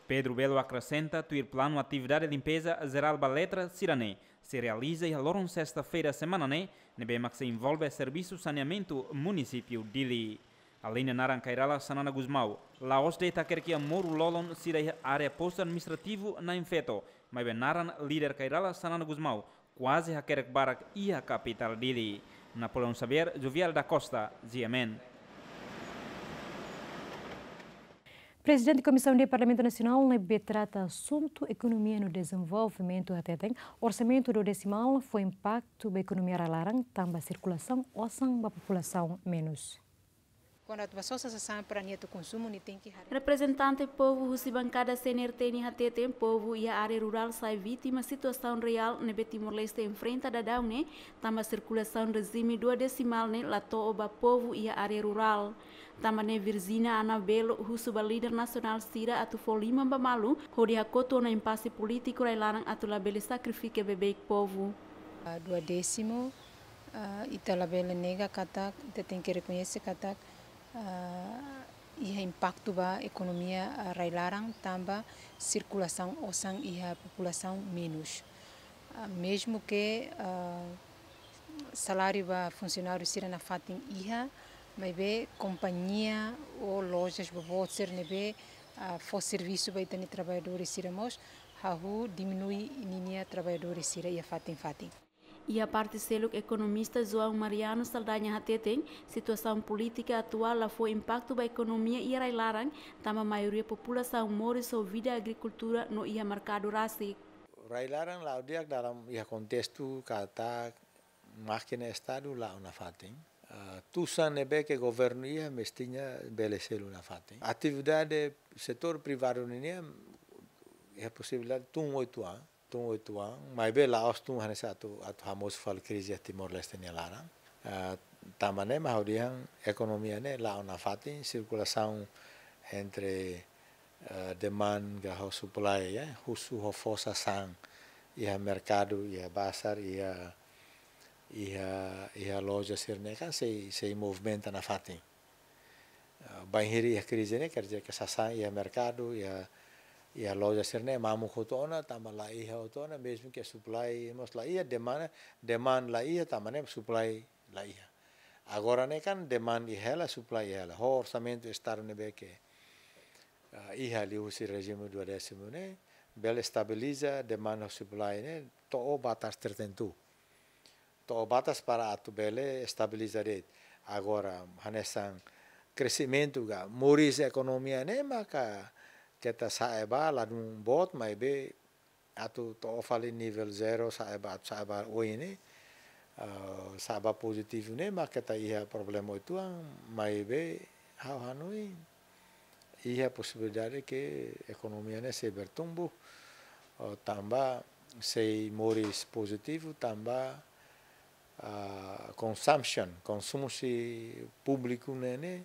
Pedro Belo akresenta tuir planu atividade limpeza jerál ba letra sira-ne'e sei realiza iha loron sesta-feira semana ne'e, ne'ebé mak sei envolve servisu saneamentu munisípiu Dili. Aleinde naran Kay Rala Xanana Gusmão, la'ós de'it hakerek iha moru-lolon sira iha área postu administrativu Na'in Feto, maibé naran líder Kay Rala Xanana Gusmão kuaze hakerek barak iha kapitál Dili. Napoleão Xavier, Jovial da Costa, G M N. Prezidente Komisaun D Parlamentu Nasionál ne'ebé trata asuntu ekonomia no dezenvolvimentu hateten, orsamentu duodesimál fó impaktu ba ekonomia rai-laran, tanba sirkulasaun osan ba populasaun menus. Kuandu atu ba sosa sasán para nia atu konsumu, nia tenke haree. Reprezentante povu husi bankada C N R T nia hateten, povu iha área rurál sai vítima situasaun reál ne'ebé Timor-Leste enfrenta daudaun ne'e, tanba sirkulasaun rejime duodesimál ne'e la to'o ba povu iha área rurál. Tanba ne'e Virginia Anabelo husu ba líder nasionál sira atu fó liman ba malu, hodi hakotu ona impase polítiku rai-laran atu labele sakrifika beibeik povu. Ah, duodésimu, ah, ita labele nega katak, ita tenke rekoñese katak, ah, iha impaktu ba ekonomia, ah, rai-laran tanba sirkulasaun osan iha populasaun menus. Ah, mezmu ke, ah, saláriu ba funsionáriu sira nafatin iha, maibé kompañia ou lojas boboot sira ne'ebé, ah, fó servisu ba ita-nia traballadores sira mós hahú diminui ninia traballadores sira iha fatin-fatin. Iha parte seluk, ekonomista João Mariano Saldanha hateten, situasaun polítika atuál la fó impaktu ba ekonomia iha rai-laran, tanba maioria populasaun moris ho vida agrikultura no iha merkadu rasik. Rai-laran la'o di'ak dalam iha kontestu katak mákina Estadu la'o nafatin. Ah, tusan ne'ebé ke governu iha mestinya bele selu nafatin. Atividade setór privadu nian iha posibilidade tun oituan, tun oituan, maibé la'ós tun hanesan atu, atu hamosu fali krize iha Timor-Leste nia laran. Ah, tanba ne'e mak ha'u dehan ekonomia ne'e la'o nafatin, sirkulasaun entre, eh, demand ka ho supply, ya, husu ho fó sasán iha merkadu, iha bazar, iha, iha, iha loja sira-ne'e kan sei, sei movimenta nafatin. Eh, bainhira iha krize ne'e, quer dizer ke sasán iha merkadu, iha, Iha loja sira-ne'e mamuk hotu ona, tanba la iha hotu ona, mezmu ke supply mós la iha, demand, demand la iha, tanba ne'e supply la iha. Agora ne'e kan demand iha hela, supply iha hela. Ho orsamentu estadu ne'ebé ke, ah, iha liuhusi rejime duodésimu ne'e, bele estabiliza demand ho supply ne'e, to'o batas tertentu. To'o batas para atu bele estabiliza de'it. Agora, hanesan kresimentu ka, moris ekonomia ne'e maka keta sa'e ba ladún boot, maibé atu to'o fali nivel zero, sa'e ba, atu sa'e ba oin ne'e, ah, sa'e ba pozitivu ne'e, maka keta iha problema uitoan, maibé ha'u hanoin iha posibilidade ke ekonomia ne'e sei bertumbuh, oh, tanba sei moris pozitivu, tanba, ah, consumption, konsumu husi públiku ne'e, ne'e,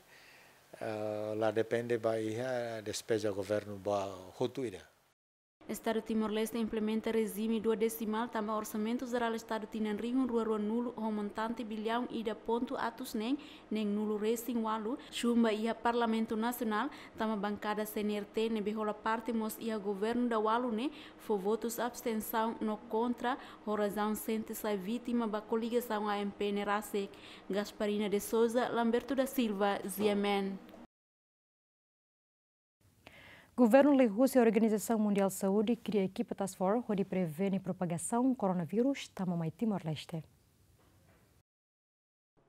ah, la depende ba iha despeza governu ba hotu ida. Estadu Timor-Leste implementa rejime duodesimál tanba Orsamentu Jerál Estadu tinan rihun rua rua nulu ho montante biliaun ida pontu atus neen neen nulu resin ualu, chumba iha Parlamentu Nasionál, tanba bankada C N R T ne'ebé hola parte mós iha governu daualu ne'e fó votus abstensaun no kontra, ho razaun sente sai vítima ba koligasaun A M P ne'e rasik. Gasparina de Souza, Lamberto da Silva, G M N. Governu liuhusi Organizasaun Mundiál Saúde kria ekipa task force hodi prevene propagasaun koronavírus tama mai Timor-Leste.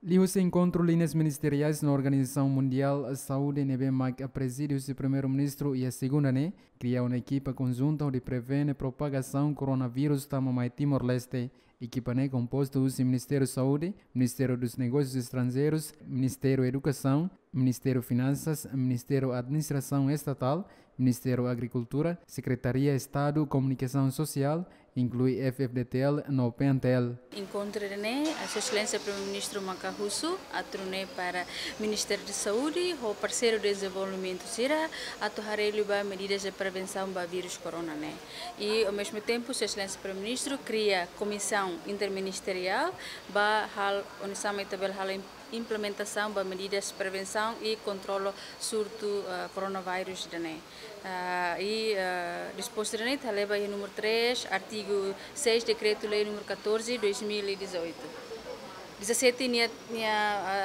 Liuhusi enkontru liñas ministeriais no Organizasaun Mundiál Saúde ne'ebé mak prezide husi Primeiru-Ministru iha segunda ne'e, kria ona ekipa konjunta hodi prevene propagasaun koronavírus tama mai Timor-Leste. Ekipa ne'e kompostu husi Ministériu Saúde, Ministériu dos Negósius Estranjeirus, Ministériu Edukasaun, Ministériu Finansas, Ministériu Administrasaun Estatál, Ministériu Agrikultura, Sekretaria Estadu Komunikasaun Sosiál, inklui F F D T L no P N T L. Enkontru ne'e, Sua Exelénsia Primeiru-Ministru maka husu, atu nune'e para Ministériu Saúde ho parseiru dezenvolvimentu sira atu haree liu ba medidas de prevensaun ba vírus corona ne'e. I, ao mesmo tempo, Sua Exelénsia Primeiru-Ministru kria komisaun interministeriál ba halo, oinsá mak ita bele halo im-, implementasaun ba medidas prevensaun i kontrolu surtu, ah, koronavírus ida-ne'e. Ah, i, ah, dispostu ida-ne'e ita haree ba iha númeru três, artigu seis, Dekretu-Lei númeru catorze, dois mil e dezoito. Dezassete nia, nia,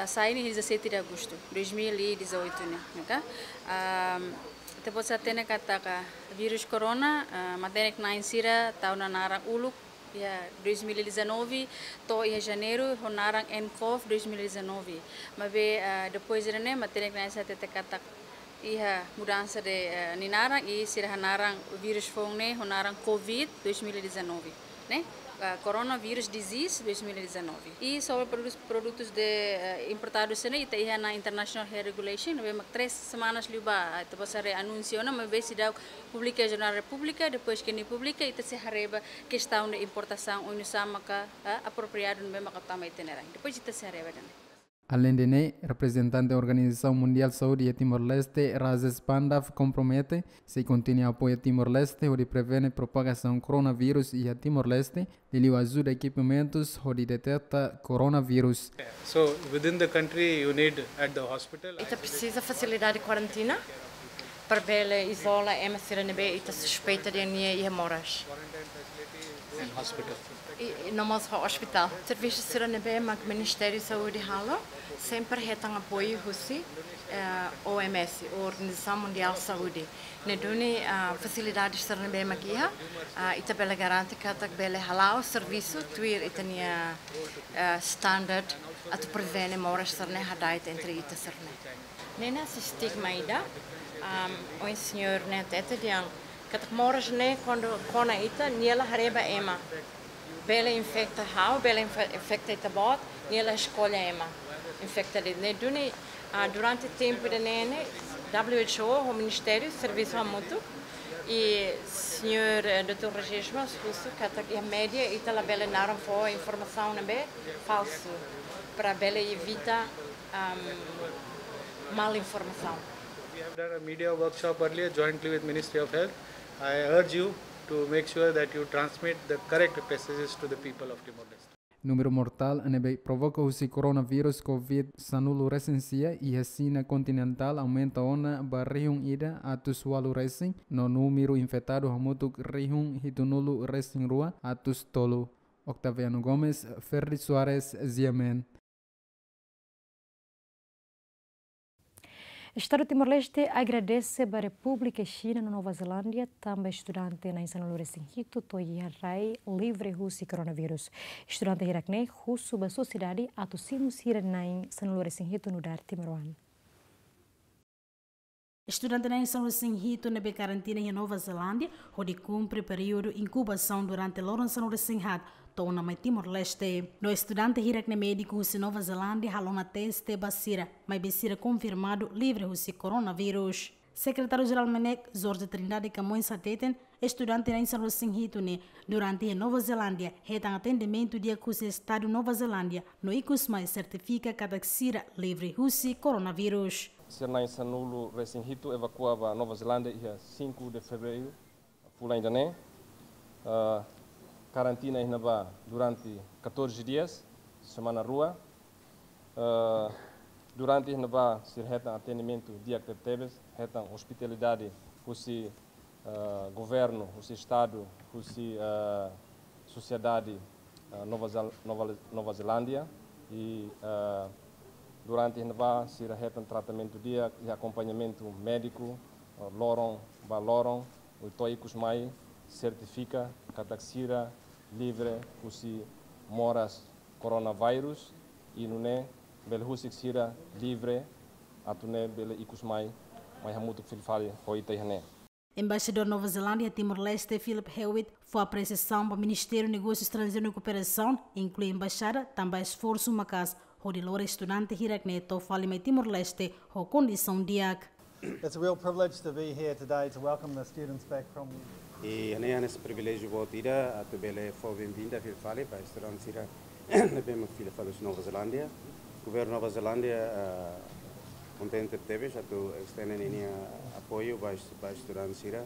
ah, sai iha dezassete de agosto, dois mil e dezoito ne'e, ok? Ah, ita bele hatene katak vírus corona, ah, matenek-na'in sira tau ona naran uluk iha dois mil e dezanove, to'o iha Janeiru ho naran nCoV dois mil e dezanove. Maibé, ah, depois ida-ne'e matenek-na'in sira hatete katak iha mudansa de, ah, nia naran i sira hanaran vírus foun ne'e ho naran Covid dois mil e dezanove, ne'e? Ah, Coronavirus Disease dois mil e dezanove. I sobre produtus, produtus de, ah, importadu sira-ne'e, ita iha ona International Health Regulation, ne'ebé mak três semanas liubá, ah, ita bele haree anúnsiu ona, maibé seidauk publika iha Jornál Repúblika, depois ke nia publika, ita sei haree ba kestaun de importasaun, oinsá maka, ah, apropriadu ne'ebé maka tama ita-nia rain. Depois ita sei haree ba ida-ne'e. Aleinde ne'e, reprezentante Organizasaun Mundiál Saúde iha Timor-Leste, Rajesh Pandav, kompromete sei kontinua apoia Timor-Leste hodi prevene propagasaun koronavírus iha Timor-Leste, liuliu ajuda ekipamentus hodi deteta koronavírus. So, within the country, you need at the hospital. Ita presiza fasilidade kuarentina para bele izola ema sira ne'ebé ita suspeita dehan nia iha moras. And hospital. I, i no mós ho ospitál. Servisu sira ne'ebé mak Ministériu Saúde halo, sempre hetan apoiu husi, eh, O M S, Organizasaun Mundiál Saúde. Ne'e duni, ah, fasilidade sira ne'ebé mak iha, ah, ita bele garante katak bele hala'o servisu tuir ita-nia, ah, standard atu prevene moras sira-ne'e hada'et entre ita sira-ne'e. Ne'e ne'e hanesan stigma ida, am, ohin señór ne'e hatete dehan katak moras ne'e kuandu kona ita, nia la haree ba ema. Bele infeta ha'u, bele infe-, infeta ita-boot, nia la eskolla ema. Infeta de'it. Ne'e duni, ah, durante tempu ida-ne'e ne'e, W H O ho ministériu servisu hamutuk. I señór, eh, doutór Regis mós husu katak iha média ita labele naran fó informasaun ne'ebé falsu para bele evita, am, mal informasaun. We have done a media workshop earlier jointly with Ministry of Health. I urge you to make sure that you transmit the correct messages to the people of Timor-Leste. Númeru mortál ne'ebé provoka husi koronavírus COVID sanulu resin sia iha Xina kontinentál aumenta ona ba rihun ida atus ualu resin, no númeru infetadu hamutuk rihun hitunulu resin rua atus tolu. Octaviano Gomes, Ferdi Soares, G M N. Estadu Timor-Leste agradese ba Repúblika Xina no Nova Zelándia, tanba estudante na'in sanulu resin hitu to'o iha rai livre husi koronavírus. Estudante hirak-ne'e husu ba sosiedade atu simu sira na'in sanulu resin hitu nu'udar timoroan. Estudante na'in sanulu resin hitu ne'ebé karantina iha Nova Zelándia, hodi kumpre períodu inkubasaun durante loron sanulu resin haat, to'o ona mai Timor-Leste. No estudante hirak-ne'e médiku husi Nova Zelándia halo ona teste ba sira, maibé sira konfirmadu livre husi koronavírus. Sekretáriu Jerál MNEK, Jorge Trindade Camões hateten, estudante na'in sanulu resin hitu ne'e, durante iha Nova Zelándia, hetan atendimentu di'ak husi Estadu Nova Zelándia, no ikus mai sertifika katak sira livre husi koronavírus. Sira na'in sanulu resin hitu evakua ba Nova Zelándia iha cinco de fevereiro, fulan ida-ne'e. Ah, karantina iha ne'ebá durante catorze dias, semana rua. Ah, durante iha ne'ebá sira hetan atendimentu di'ak tebetebes, hetan ospitalidade husi, ah, governu, husi Estadu, husi, ah, sosiedade, ah, Nova Zel-, Nova Le-, Nova Zelándia. I, ah, durante iha ne'ebá sira hetan tratamentu di'ak, i akompañamentu médiku, ah, loron ba loron, no to'o ikus mai sertifika katak sira livre husi moras koronavírus, i nune'e bele husik sira livre atu nune'e bele ikus mai, mai hamutuk fila fali ho ita iha ne'e. Embaixadór Nova Zelándia iha Timor-Leste, Philip Hewitt, fó apresiasaun ba Ministériu Negósiu Estranjeiru no Kooperasaun, inklui embaixada, tanba esforsu maka'as hodi lori estudante hirak-ne'e to'o fali mai Timor-Leste ho kondisaun di'ak. It's a real privilege to be here today to welcome the students back from. I hanesan priviléjiu boot ida atu bele fó benvinda fila fali ba estudante sira ne'ebé mak fila fali husi Nova Zelándia. Governu Nova Zelándia, ah, kontente tebes atu estende ninia apoiu ba est-, ba estudante sira,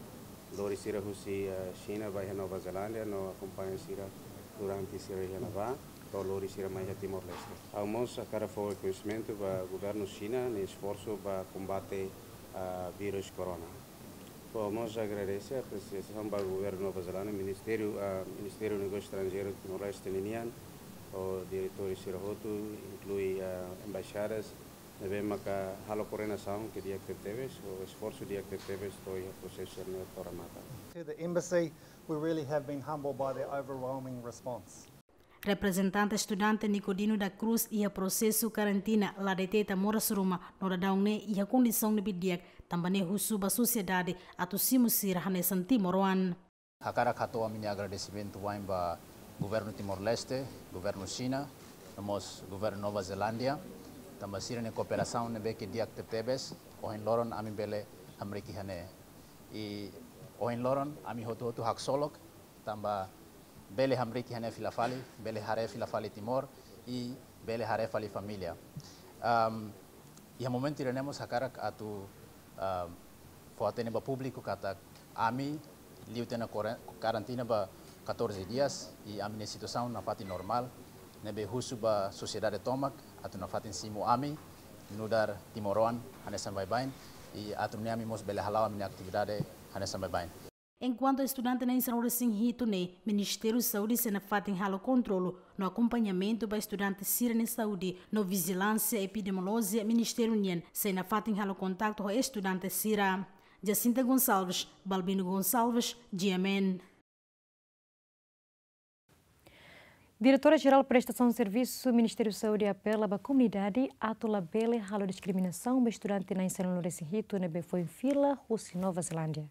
lori sira husi, ah, Xina ba iha Nova Zelándia, no akompaña sira durante sira iha ne'ebá, to'o lori sira mai iha Timor-Leste. Ha'u mós hakarak fó rekoñesimentu ba governu Xina nia esforsu ba kombate, ah, vírus corona. Ha'u mós agradese apresiasaun ba governu Nova Zelándia, Ministériu, ah, Ministériu Negósiu Estranjeiru Timor-Leste ninian, ho diretór sira hotu, inklui, ah, embaixadas, ne'ebé maka halo koordenasaun ke di'ak tebetebes, ho esforsu di'ak tebetebes to'o iha prosesu ne'e to'o remata. To the embassy, we really have been humbled by their overwhelming response. Reprezentante estudante Nicodino da Cruz iha prosesu karantina la deteta moras ruma, no daudaun ne'e iha kondisaun ne'ebé di'ak, tanba ne'e husu ba sosiedade atu simu sira hanesan timoroan. Hakarak hato'o ami-nia agradesimentu wa'in ba governu Timor-Leste, governu Xina, no mós governu Nova Zelándia, tanba sira-nia kooperasaun ne'ebé ke di'ak tebetebes, ohin loron ami bele hamriik iha ne'e. I ohin loron ami hotu-hotu haksolok, tanba bele hamriik iha ne'e fila fali, bele haree fila fali Timor, i bele haree fali família. Am, iha momentu ida-ne'e mós hakarak atu, am, fó-hatene ba públiku katak ami liu tiha ona kore-, karantina ba catorze dias, i ami-nia situasaun nafatin normál, ne'ebé husu ba sosiedade tomak atu nafatin simu ami nu'udar timoroan hanesan baibain, i atu nune'e ami mós bele hala'o ami-nia atividade hanesan baibain. Enkuantu estudante na'in sanulu resin hitu ne'e, Ministériu Saúde sei nafatin halo kontrolu no akompañamentu ba estudante sira-nia saúde, no vijilánsia epidemiolójia Ministériu nian sei nafatin halo kontaktu ho estudante sira. Jacinta Gonçalves, Balbino Gonçalves, G M N. Diretora Jerál Prestasaun Servisu Ministériu Saúde apela ba komunidade atu labele halo diskriminasaun ba estudante na'in sanulu resin hitu ne'ebé foin fila husi Nova Zelándia.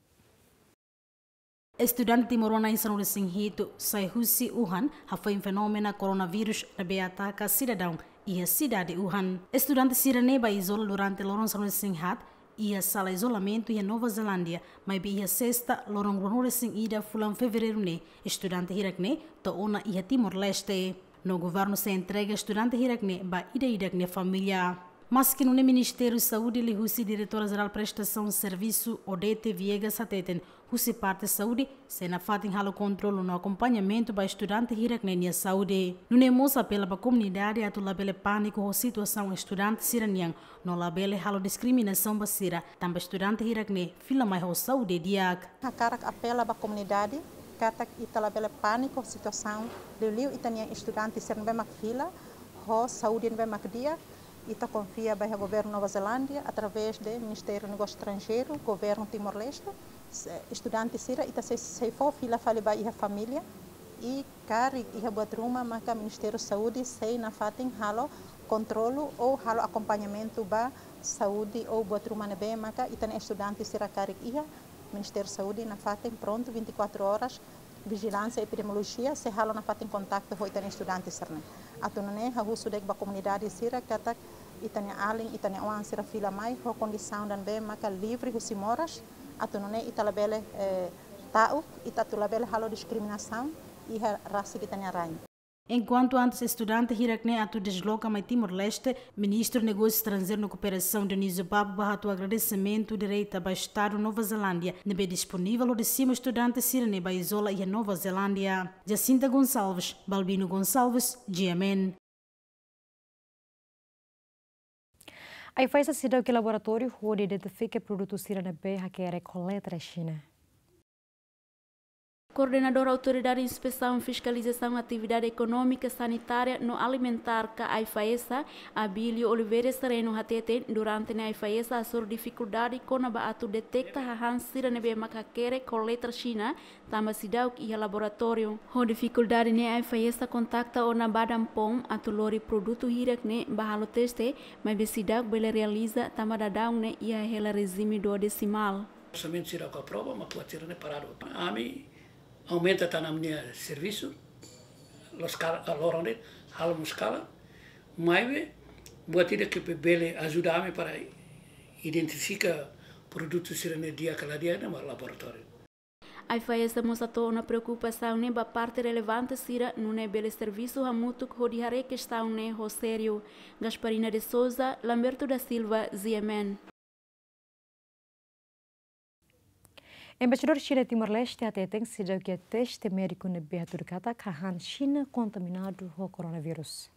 Estudante timoroan na'in sanulu resin hitu sai husi Wuhan, hafoin fenómenu koronavírus ne'ebé ataka sidadaun iha sidade Wuhan. Estudante sira-ne'e ba izola durante loron sanulu resin haat iha sala izolamentu iha Nova Zelándia, maibé iha sesta loron ruanulu resin ida fulan Fevereiru ne'e, estudante hirak-ne'e to'o ona iha Timor-Leste. No governu sei entrega estudante hirak-ne'e ba ida-idak nia família. Maski nune'e Ministériu Saúde liuhusi Diretora Jerál Prestasaun Servisu Odete Viegas hateten, husi parte saúde sei nafatin halo kontrolu no akompañamentu ba estudante hirak-ne'e nia saúde. Nune'e mós apela ba komunidade atu labele pániku ho situasaun estudante sira-nian, no labele halo diskriminasaun ba sira, tanba estudante hirak-ne'e fila mai ho saúde di'ak. Hakarak apela ba komunidade katak ita labele pániku situasaun, liuliu ita-nia estudante sira ne'ebé mak fila ho saúde ne'ebé mak di'ak. Ita konfia ba iha governu Nova Zelándia através de Ministériu Negósiu Estranjeiru, governu Timor-Leste. Se-, estudante sira ita sei, sei fó fila fali ba iha família, i karik iha buat ruma maka Ministériu Saúde sei nafatin halo kontrolu ou halo akompañamentu ba saúde ou buat ruma ne'ebé maka ita-nia estudante sira karik iha. Ministériu Saúde nafatin prontu vinte e quatro horas, vijilánsia epidemiolojia sei halo nafatin kontaktu ho ita-nia estudante sira-ne'e. Atu nune'e ha'u husu de'it ba komunidade sira katak ita-nia alin, ita-nia oan sira fila mai ho kondisaun ida ne'ebé maka livre husi moras, atu nune'e ita labele, eh, ta'uk, ita atu labele halo diskriminasaun iha rasik ita-nia rain. Enkuantu antes estudante hirak-ne'e atu desloka mai Timor-Leste, Ministru Negósiu Estranjeiru no Kooperasaun Dionísio Babo ba hato'o agradesimentu direta ba Estadu Nova Zelándia ne'ebé disponivel hodi simu estudante sira-ne'e ba izola iha Nova Zelándia. Jacinta Gonçalves, Balbino Gonçalves, G M N. AIFAESA seidauk iha laboratóriu hodi identifika produtu sira ne'ebé hakerek ho letra Xina. Koordenadór Autoridade Inspesaun Fiskalizasaun Atividade Ekonómika, Sanitária no Alimentár ka AIFAESA, Abílio Oliveira Sereno hateten, durante ne'e AIFAESA hasoru difikuldade kona-ba atu deteta hahán sira ne'ebé mak hakerek ho letra Xina, tanba seidauk iha laboratóriu. Ho difikuldade ne'e AIFAESA kontakta ona Badan POM atu lori produtu hirak-ne'e ba halo teste, maibé seidauk bele realiza tanba daudaun ne'e iha hela rejime duodesimál. Orsamentu sira ka aprova, mas buat sira-ne'e paradu. Ami aumenta tan ami-nia servisu, loos ka, loron de'it, halo mós kalan, maibé buat ida ke bele ajuda ami para identifika produtu sira-ne'e di'ak ka la di'ak ne'e mak laboratóriu. AIFAESA mós hato'o ona preokupasaun ne'e ba parte relevante sira, nune'e bele servisu hamutuk hodi haree kestaun ne'e ho sériu. Gasparina de Souza, Lamberto da Silva, G M N. Embaixadór Xina iha Timor-Leste hateten seidauk iha teste médiku ne'ebé hatudu katak hahán Xina kontaminadu ho koronavírus.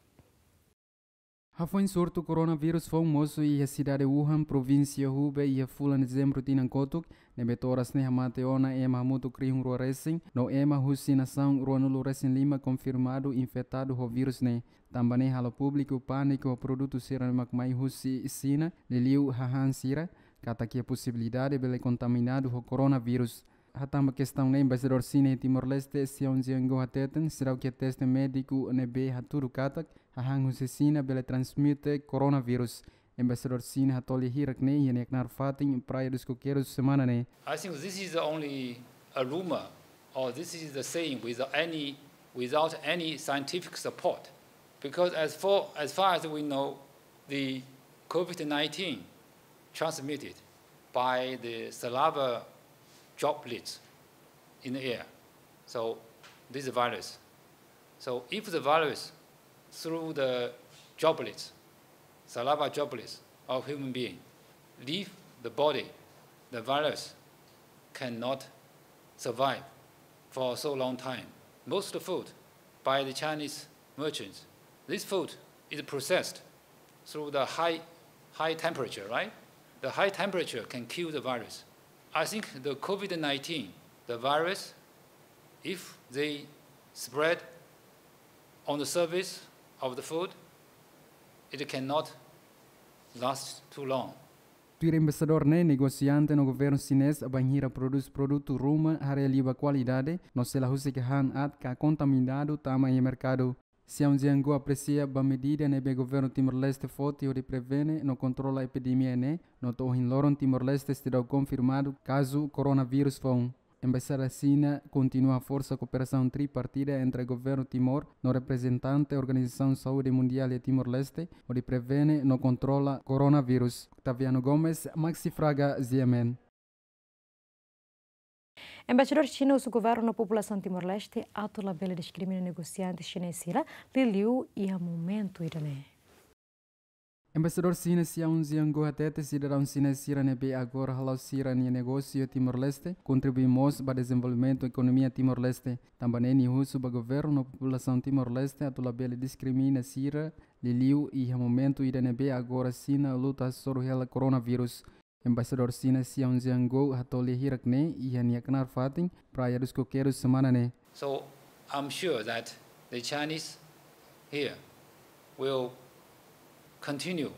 Hafoin surtu koronavírus foun mosu iha sidade Wuhan, provínsia Hubei, iha fulan Dezembru tinan kotuk, ne'ebé to'o oras ne'e hamate ona ema hamutuk rihun rua resin, no ema husi nasaun ruanulu resin lima konfirmadu infetadu ho vírus ne'e. Tanba ne'e halo públiku pániku ho produtu sira mak mai husi Xina, liuliu hahán sira, katak iha posibilidade bele kontaminadu ho koronavírus. Hatán ba kestaun ne'e, Embaixadór Xina iha Timor-Leste, Xiao Jianguo hateten, seidauk iha teste médiku ne'ebé hatudu katak hahán husi Xina bele transmite koronavírus. Embaixadór Xina hato'o lia hirak-ne'e iha nia knaar fatin Praia dos Coqueiros semana ne'e. I think this is only a rumor, or this is the saying without any, without any scientific support. Because as for, as far as we know, the COVID nineteen transmitted by the saliva droplets in the air. So this virus. So if the virus through the droplets, saliva droplets of human being leave the body, the virus cannot survive for so long time. Most food by the Chinese merchants, this food is processed through the high, high temperature, right? The high temperature can kill the virus. I think the COVID nineteen, the virus, if they spread on the surface of the food, it cannot last too long. Tuir embaixadór ne'e, negosiante no governu xinés bainhira prodús produtu ruma haree liu ba kualidade, no sei la husik hahán aat ka kontaminadu tama iha merkadu. Xiao Jianguo apresia ba medida ne'ebé governu Timor-Leste foti hodi prevene no kontrola epidemia ne'e, no to'o ohin loron Timor-Leste seidauk konfirmadu kazu koronavírus foun. Embaixada Xina kontinua haforsa kooperasaun tripartida entre governu Timor no reprezentante Organizasaun Saúde Mundiál iha Timor-Leste, hodi prevene no kontrola koronavírus. Octaviano Gomes, Maxi Fraga, G M N. Embaixadór Xina husu governu no populasaun Timor-Leste atu labele diskrimina negosiante xinés sira, liuliu iha momentu ida-ne'e. Embaixadór Xina Xiao Jianguo hatete sidadaun Xina sira ne'ebé agora hala'o sira-nia negósiu iha Timor-Leste kontribui mós ba dezenvolvimentu ekonomia Timor-Leste. Tanba ne'e nia husu ba governu no populasaun Timor-Leste atu labele diskrimina sira, liuliu iha momentu ida ne'ebé agora Xina luta hasoru hela koronavírus. Embaixadór Xina Xiao Jianguo hato'o lia hirak ne'e iha nia knaar fatin Praia dos Coqueiros semana ne'e. So I'm sure that the Chinese here will continue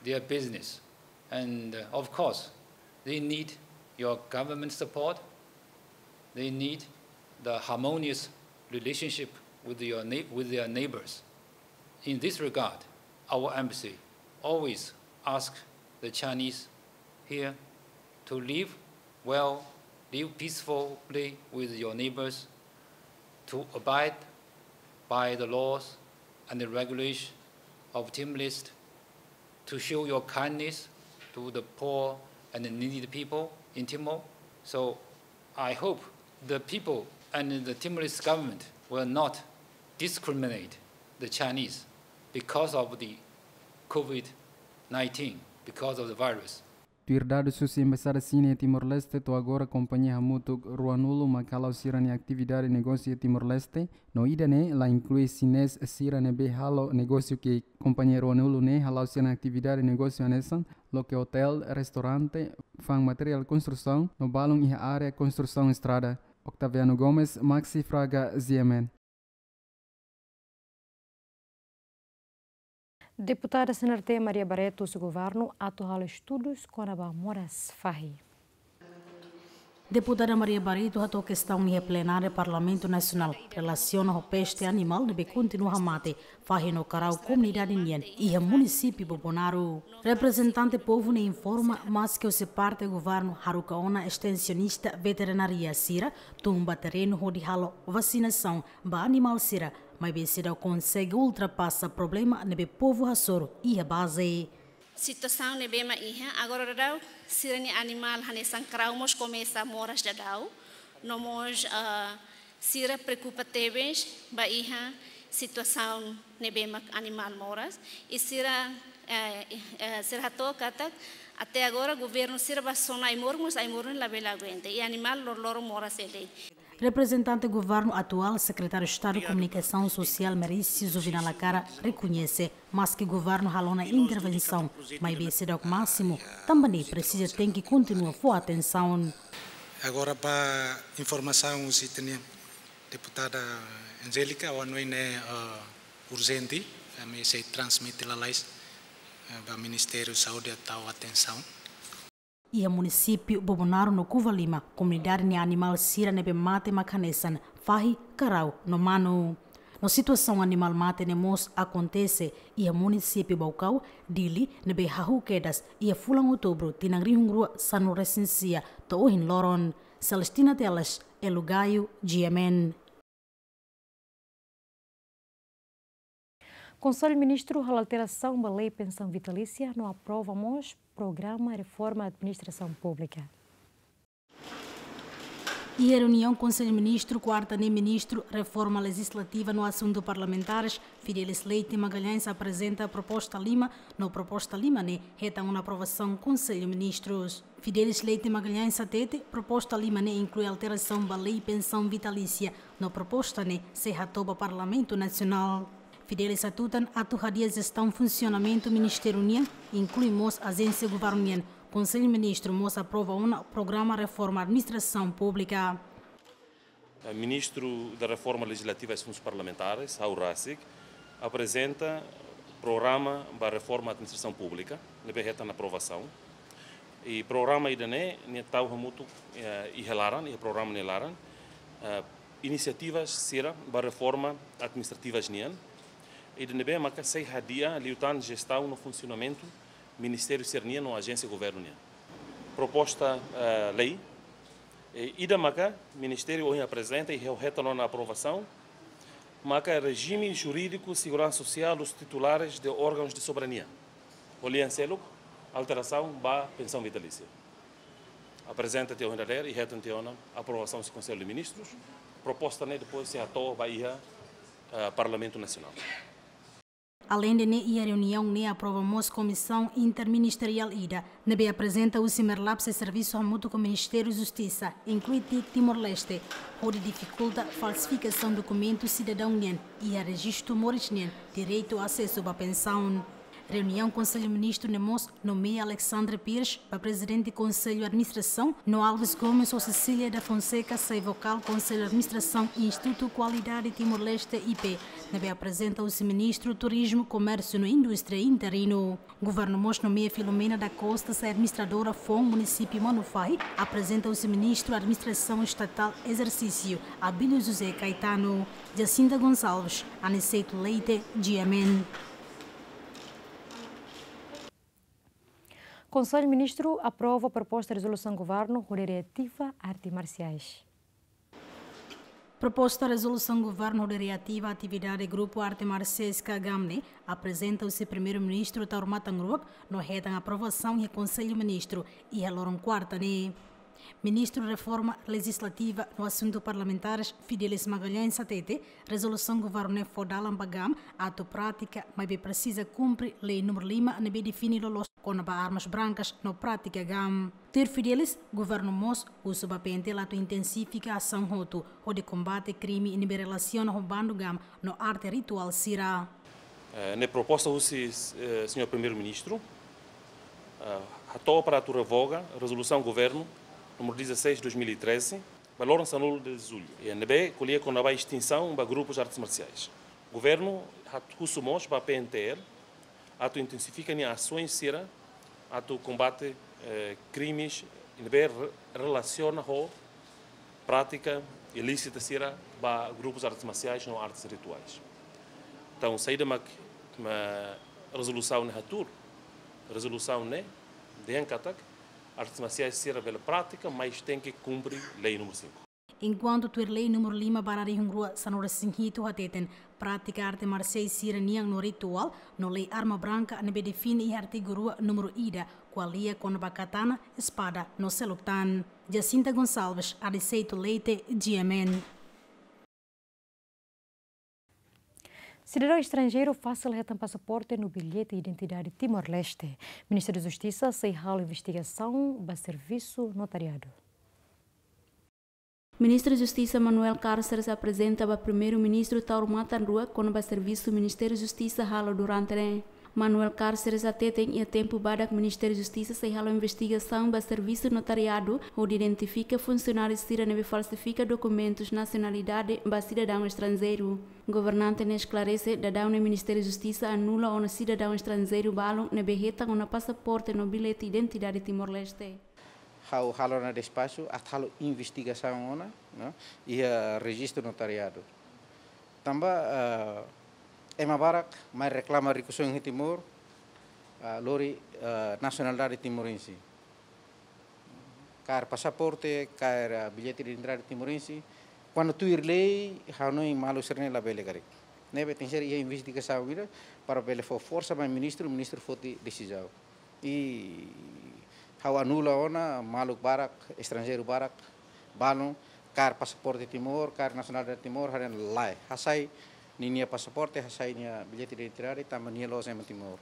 their business. And, uh, of course, they need your government support. They need the harmonious relationship with your neigh-, with their neighbors. In this regard, our embassy always asks the Chinese here to live well, live peacefully with your neighbors, to abide by the laws and the regulation of Timor-Leste, to show your kindness to the poor and the needy people in Timor. So I hope the people and the Timorese government will not discriminate the Chinese because of the COVID nineteen, because of the virus. Tuir dadus husi Embaixada Xina iha Timor-Leste, to'o agora kompañia hamutuk ruanulu mak hala'o sira-nia atividade negósiu iha Timor-Leste, no ida-ne'e la inklui xinés sira ne'ebé halo negósiu ki'ik. Kompañia ruanulu ne'e hala'o sira-nia atividade negósiu hanesan loke otél, restaurante, fa'an materiál konstrusaun, no balun iha área konstrusaun estrada. Octaviano Gomes, Maxi Fraga, G M N. Deputada C N R T Maria Barreto husu governu atu halo estudus kona-ba moras fahi. Deputada Maria Barreto hato'o kestaun iha plenária Parlamentu Nasionál relasiona ho peste animál ne'ebé kontinua hamate fahi no karau komunidade nian iha munisípiu Bobonaro. Reprezentante povu ne'e informa, maske husi parte governu haruka ona estensionista veterinária sira tun ba terrenu hodi halo vasinasaun ba animál sira, maibé seidauk konsege ultrapasa problema ne'ebé povu hasoru iha baze. Situasaun ne'ebé mak iha, agora daudaun sira-nia animál hanesan karau mós komesa moras daudaun, no mós, ah, sira preokupa tebes ba iha situasaun ne'ebé mak animál moras, i sira, eh, eh, sira hato'o katak até agora governu sira bá sona ai-moruk, mas ai-moruk labele aguenta, i animál loroloron moras hela. Reprezentante governu atuál, Sekretáriu Estadu Komunikasaun Sosiál Merício Juvenal Acara rekoñese, maske governu halo ona intervensaun, maibé seidauk másimu, tanba ne'e presiza tenke kontinua fó atensaun. Agora ba informasaun husi ita-nia deputada Angélica, ohin ne'e, eh, urjente, ami sei transmite lalais, eh, ba Ministériu Saúde atu tau atensaun. Iha munisípiu Bobonaro no Covalima, komunidade nia animál sira ne'ebé mate mak hanesan fahi, karau no manu. No situasaun animál mate ne'e mós akontese iha munisípiu Baucau, Dili, ne'ebé hahú kedas iha fulan Outubru tinan rihun rua sanulu-resin-sia to'o ohin loron. Celestina Teles, Elu Gaio, G M N. Konsellu Ministru halo alterasaun ba lei pensaun vitalísia no aprova mós programa reforma administrasaun públika. Iha reuniaun Konsellu Ministru kuarta ne'e, Ministru Reforma Lejislativa no Asuntu Parlamentares, Fidelis Leite Magalhães, aprezenta proposta lima, no proposta lima ne'e hetan ona aprovasaun Konsellu Ministrus. Fidelis Leite Magalhães hatete, proposta lima ne'e inklui alterasaun ba lei pensaun vitalísia, no proposta ne'e sei hato'o ba Parlamentu Nasionál. Fidelis hatutan atu hadi'a jestaun funsionamentu ministériu nian, inklui mós ajénsia governu nian. Konsellu Ministru mós aprova ona programa reforma administrasaun públika. Eh, Ministru da Reforma Legislativa e Assuntos Parlamentares, ha'u rasik, aprezenta programa ba reforma administrasaun públika, ne'ebé hetan aprovasaun. I programa ida-ne'e, nia tau hamutuk, eh, iha laran, iha programa nia laran, eh, inisiativas sira ba reforma administrativas nian. Ida-ne'ebé maka sei hadi'a liután jestaun no funsionamentu ministériu sira-nian no ajénsia governu nian. Proposta, eh, lei, eh, ida maka ministériu ohin aprezenta i ha'u hetan ona aprovasaun, maka rejime jurídiku seguransa sosiál dos titulares de órgãos de soberania. Ho lian seluk, alterasaun ba pensaun vitalísia. Aprezenta tiha ohin dadeer i hetan tiha ona aprovasaun husi Konsellu de Ministrus. Proposta ne'e depois sei hato'o ba iha, eh, Parlamentu Nasionál. Aleinde ne'e, iha reuniaun ne'e aprova mós komisaun interministeriál ida ne'ebé aprezenta husi Merlapse servisu hamutuk ho Ministériu Justisa, inklui TIC Timor-Leste, hodi difikulta falsifikasaun dokumentu sidadaun nian iha rejistu moris nian direitu asesu ba pensaun. Reuniaun Konsellu Ministru ne'e mós nomeia Alexandre Pires ba Prezidente Konsellu Administrasaun, no Alves Gomes ho Cecília da Fonseca sai vokál Konsellu Administrasaun Institutu Kualidade Timor-Leste, I P, ne'ebé aprezenta husi Ministru Turizmu, Komérsiu no Indústria interinu. Governu mós nomeia Filomena da Costa sai administradora foun Munisípiu Manufahi, aprezenta husi Ministru Administrasaun Estatál Ezersísiu, Abílio José Caetano. Jacinta Gonçalves, Aniceto Leite, G M N. Konsellu Ministru aprova proposta rezolusaun governu hodi reativa arte marsiais. Proposta rezolusaun governu hodi reativa atividade grupu arte marsiais ka GAM ne'e aprezenta husi Primeiru-Ministru Taur Matan Ruak no hetan aprovasaun iha Konsellu Ministru iha loron kuarta ne'e. Ministru Reforma Lejizlativa no Asuntu Parlamentares, Fidelis Magalhães, hatete rezolusaun governu ne'e fó dalan ba GAM atu pratika, maibé presiza kumpre lei númeru lima ne'ebé define loloos kona-ba armas brankas no pratika GAM. Tuir Fidelis, governu mós husu ba P N T L atu intensifika asaun hotu hodi kombate krime ne'ebé relasiona ho bandu GAM no arte rituál sira. Eh, ne'e proposta husi, eh, señór Primeiru-Ministru, eh, hato'o para atu revoga rezolusaun governu númeru dezasseis dois mil e treze, ba loron sanulu de julho. I ne'ebé ko'alia kona-ba estinsaun ba grupus artes marsiais. Governu hat-, husu mós ba P N T L atu intensifika nia asaun sira atu kombate, eh, krimes ne'ebé re-, relasiona ho prátika ilísita sira ba grupus artes marsiais no artes rituais. Entaun, saida mak, mak rezolusaun ne'e hatuur? Rezolusaun ne'e dehan katak artes marsiais sira bele pratika, mas tenke kumpre lei númeru cinco. Enkuantu tuir lei númeru lima barra rihun rua sanulu-resin-hitu hateten, prátika arte marsiais sira-nian no rituál no lei arma branka ne'ebé define iha artigu rua númeru ida, ko'alia kona-ba katana, espada no seluk tan. Jacinta Gonçalves, Aniceto Leite, G M N. Sidadaun estranjeiru fasil hetan pasaporte no bilhete identidade Timor-Leste. Ministériu Justisa sei halo investigasaun ba servisu notariadu. Ministru Justisa Manuel Cárceres aprezenta ba Primeiru-Ministru Taur Matan Ruak kona-ba servisu Ministériu Justisa halo durante ne'e. Manuel Cárceres hateten iha tempu badak Ministériu Justisa sei halo investigasaun ba servisu notariadu hodi identifika funsionáriu sira ne'ebé falsifika dokumentus nasionalidade ba sidadaun estranjeiru. Governante ne'e esklarese, daudaun ne'e Ministériu Justisa anula ona sidadaun estranjeiru balun ne'ebé hetan ona pasaporte no bilhete identidade Timor-Leste. Ha'u halo ona despaxu atu halo investigasaun ona, no, iha rejistru notariadu. Tanba, eh, ema barak mai reklama rikusoin iha Timor, eh, lori, eh, nasionalidade timorense. Kaer pasaporte, kaer, eh, bilhete de identidade timorense. Kuandu tuir lei, ha'u hanoin maluk sira-ne'e labele karik. Ne'ebé tenke ser iha investigasaun ida para bele fó forsa ba ministru, ministru foti desizaun. I ha'u anula ona maluk barak, estranjeiru barak, balun, kaer pasaporte Timor, kaer nasionalidade Timor, haree lae. Hasai ninia pasaporte, hasai nia bilhete de identidade, tanba nia la'ós ema Timor.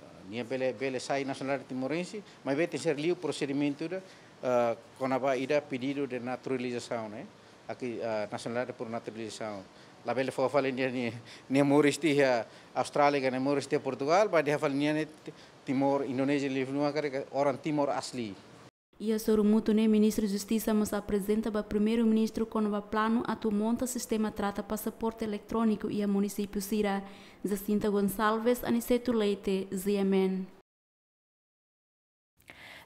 Ah, nia bele, bele sai nasionalidade timorense, maibé tenke ser liu prosedimentu ida, ah, kona-ba ida pedidu de naturalizasaun, ne'e. Aki, ah, nasionalidade por naturalizasaun. Labele fó fali nia, nia, nia moris tiha Austrália, ka nia moris tiha Portugal, ba dehan fali nia ne'e Ti-, Timor, Indonézia, liu-liu karik orang Timor asli. Iha sorumutu ne'e Ministru Justisa mós aprezenta ba Primeiru-Ministru kona-ba planu atu monta sistema trata pasaporte eletróniku iha munisípiu sira. Jacinta Gonçalves, Aniceto Leite, G M N.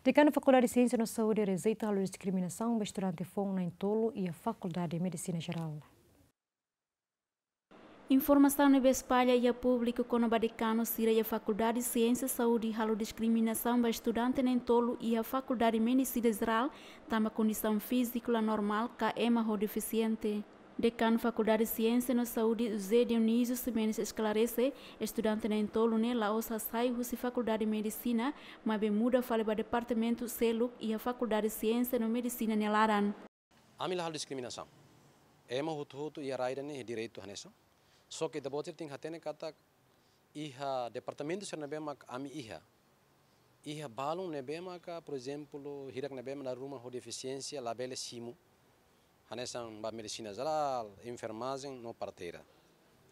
Dekanu Fakuldade Siénsia no Saúde rejeita halo diskriminasaun ba estudante foun na'in-tolu iha Fakuldade Medisina Jerál. Informasaun ne'ebé espalla iha públiku kona-ba dekanu sira iha Fakuldade Siénsia Saúde halo diskriminasaun ba estudante na'in-tolu iha Fakuldade Medisina Jerál, tanba kondisaun fíziku la normál ka ema ho defisiente. Dekanu Fakuldade Siénsia no Saúde, José Dionísio Ximenes, esklarese, estudante na'in-tolu ne'e la'ós hasai husi Fakuldade Medisina, maibé muda fali ba departamentu seluk iha Fakuldade Siénsia no Medisina nia laran. Ami la halo diskriminasaun. Ema hotu-hotu iha rai ida-ne'e iha direitu hanesan. Só ke ita-boot sira tenke hatene katak iha departamentu sira ne'ebé mak ami iha. Iha balun ne'ebé maka, por ezemplu, hirak ne'ebé mak dala ruma ho defisiénsia labele simu. Hanesan ba medisina jerál, enfermajen no parteira.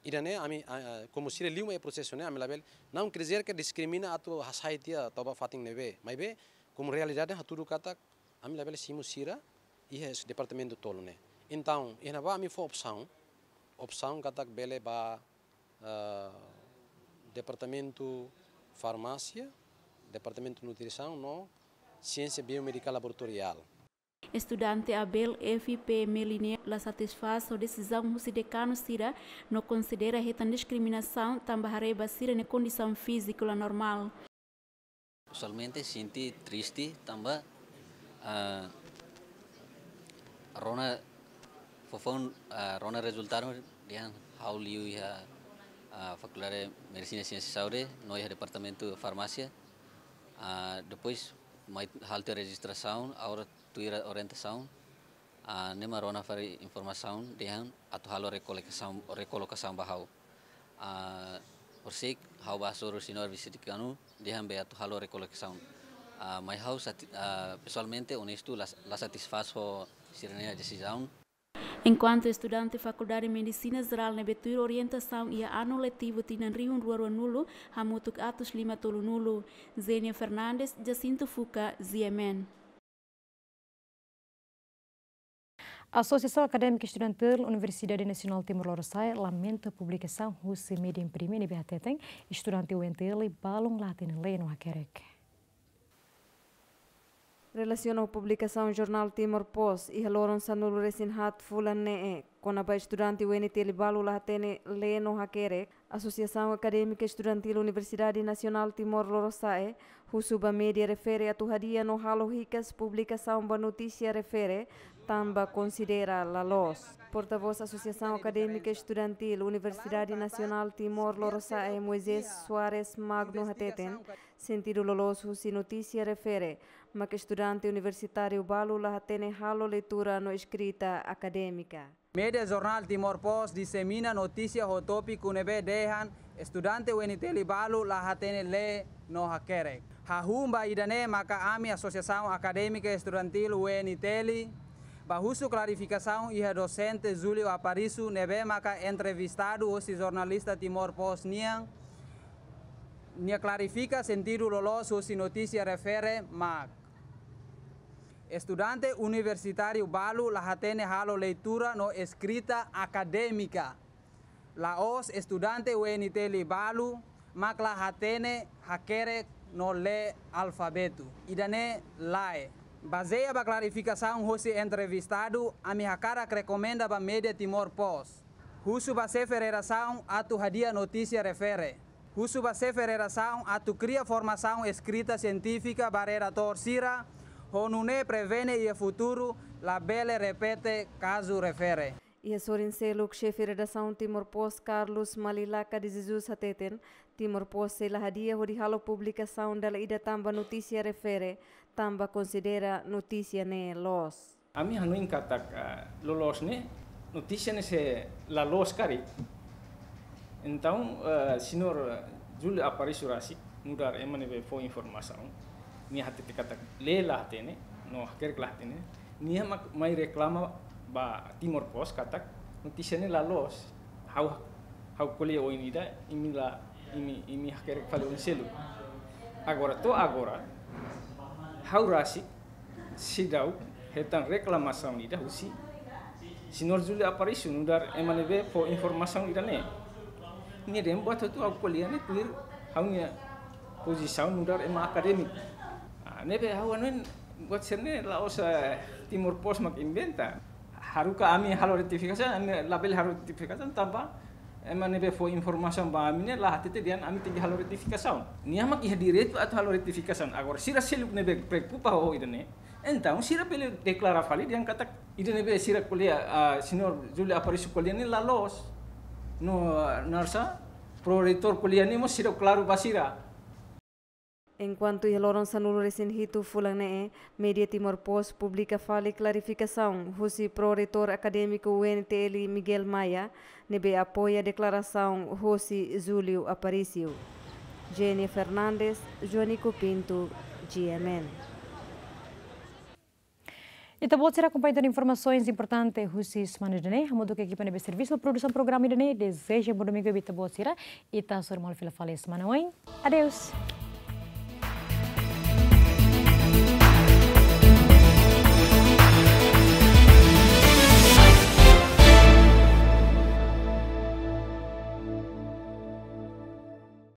Ida-ne'e ami, ah, ah, komu sira liu mai prosesu ne'e, ami labele, não quer dizer que diskrimina atu hasai tiha toba fatin ne'ebé. Maibé, komu realidade hatudu katak, ami labele simu sira iha es-, departamentu tolu ne'e. Entaun, iha ne'ebá ami fó opsaun, opsaun katak bele ba, ah, departamentu farmásia, departamentu nutrisaun no siénsia biomédika laboratoriál. Estudante Abel F P Meliné la satisfás ho desizaun husi dekanu sira, no konsidera hetan diskriminasaun tanba haree ba sira-nia kondisaun fíziku la normál. Pesoalmente sente triste tanba, ah, rona foufoun, ah, rona rezultadu dehan ha'u liu iha, ah, Fakuldade Medisina Siénsia Saúde no iha Departamentu Farmásia. Ah, depois mai halo tiha rejistrasaun, agora tuir orientasaun, ah, ne'e mak rona fali informasaun dehan atu halo rekolokasaun, rekolokasaun ba ha'u. Ah, horisehik ha'u bá hasoru señór vise-dekanu dehan be atu halo rekolokasaun. Ah, maibé ha'u sati-, ah, pesoalmente onestu la, la satisfás ho sira-nia desizaun. Enkuantu estudante Fakuldade Medisina Jerál ne'ebé tuir orientasaun iha anu letivu tinan rihun rua ruanulu, hamutuk atus lima tolunulu. Zenia Fernandes, Jacinto Fuca, G M N. Asosiasaun Akadémika Estudantil Universidade Nasionál Timor Lorosa'e lamenta publikasaun husi média imprime ne'ebé hateten estudante U N T L balun la hatene lee no hakerek. Relasiona ho publikasaun jornál Timor Post iha loron sanulu-resin-haat fulan ne'e, kona-ba estudante U N T L balu la hatene lee no hakerek, Asosiasaun Akadémika Estudantil Universidade Nasionál Timor Lorosa'e husu ba média refere atu hadi'a no halo hikas publikasaun ba notísia refere, tanba konsidera la loos. Portavós Asosiasaun Akadémika Estudantil Universidade Nasionál Timor Lorosa'e, Moisés Soares Magno, hateten, sentidu loloos husi notísia refere mak estudante universitáriu balu la hatene halo leitura no eskrita akadémika. Média jornál Timor Post disemina notísia ho tópiku ne'ebé dehan estudante U N T L balu la hatene lee no hakerek. Hahú ba ida-ne'e maka ami Asosiasaun Akadémika Estudantil U N T L bá husu klarifikasaun iha dosente Júlio Aparício ne'ebé maka entrevistadu hosi jornalista Timor Post nian, nia klarifika sentidu loloos husi notísia refere mak estudante universitáriu balu la hatene halo leitura no eskrita akadémika. La'ós estudante U N T L balu mak la hatene hakerek no lee alfabetu. Ida-ne'e lae. Bazeia ba klarifikasaun hosi entrevistadu, ami hakarak rekomenda ba média Timor Post. Husu ba xefe redasaun atu hadi'a notísia refere. Husu ba xefe redasaun atu kria formasaun eskrita sientífika ba redatór sira, ho nune'e prevene iha futuru labele repete kazu refere. Iha sorin seluk, xefe redasaun Timor Post, Carlos Malilaka de Jesus, hateten, Timor Post sei la hadi'a hodi halo publikasaun dala ida tanba notísia refere, tanba konsidera notísia ne'e loos. Ami hanoin katak, ah, loloos ne'e notísia ne'e sei la loos karik. Entaun, ah, señór Júlio Aparício rasik, nu'udar ema ne'ebé fó informasaun, nia hatete katak lee la hatene, no hakerek la hatene. Nia mak mai reklama ba Timor Post katak notísia ne'e la loos. Ha'u, ha'u ko'alia oin ida, imi la, imi, imi hakerek fali oin seluk. Agora, to'o agora, ha'u rasik seidauk hetan reklamasaun ida husi señór Júlio Aparício, nu'udar ema ne'ebé fó informasaun ida-ne'e. Nia dehan buat hotu ha'u ko'alia ne'e tuir ha'u-nia pozisaun nu'udar ema akadémiku. Ah, ne'ebé ha'u hanoin buat sira-ne'e la'ós, eh, Timor Post mak inventa. Haruka ami halo retifikasaun, ami labele halo retifikasaun tanba ema ne'ebé fó informasaun ba ami ne'e la hatete dehan ami tenke halo retifikasaun. Nia mak iha direitu atu halo retifikasaun. Agora, sira seluk ne'ebé preokupa ho ida-ne'e, entaun sira bele deklara fali dehan katak ida ne'ebé sira ko'alia, ah, señór Júlio Aparício ko'alia ne'e la loos. No, ah, naran sá, proreitór ko'alia ne'e mós seidauk klaru ba sira. Enkuantu iha loron sanulu-resin-hitu fulan ne'e, Media Timor Post publika fali klarifikasaun husi Pró-Reitór Akadémiku U N T L, Miguel Maia, ne'ebé apoia deklarasaun husi Júlio Aparício. Jenny Fernandes, Joanico Pinto, G M N. Ita-boot sira akompaña tan informasaun importante husi semana ida-ne'e. Hamutuk ho ekipa ne'ebé servisu produsaun programa ida-ne'e, dezeja bom domingu ba ita-boot sira. Ita hasoru malu fila fali semana oin. Adeus.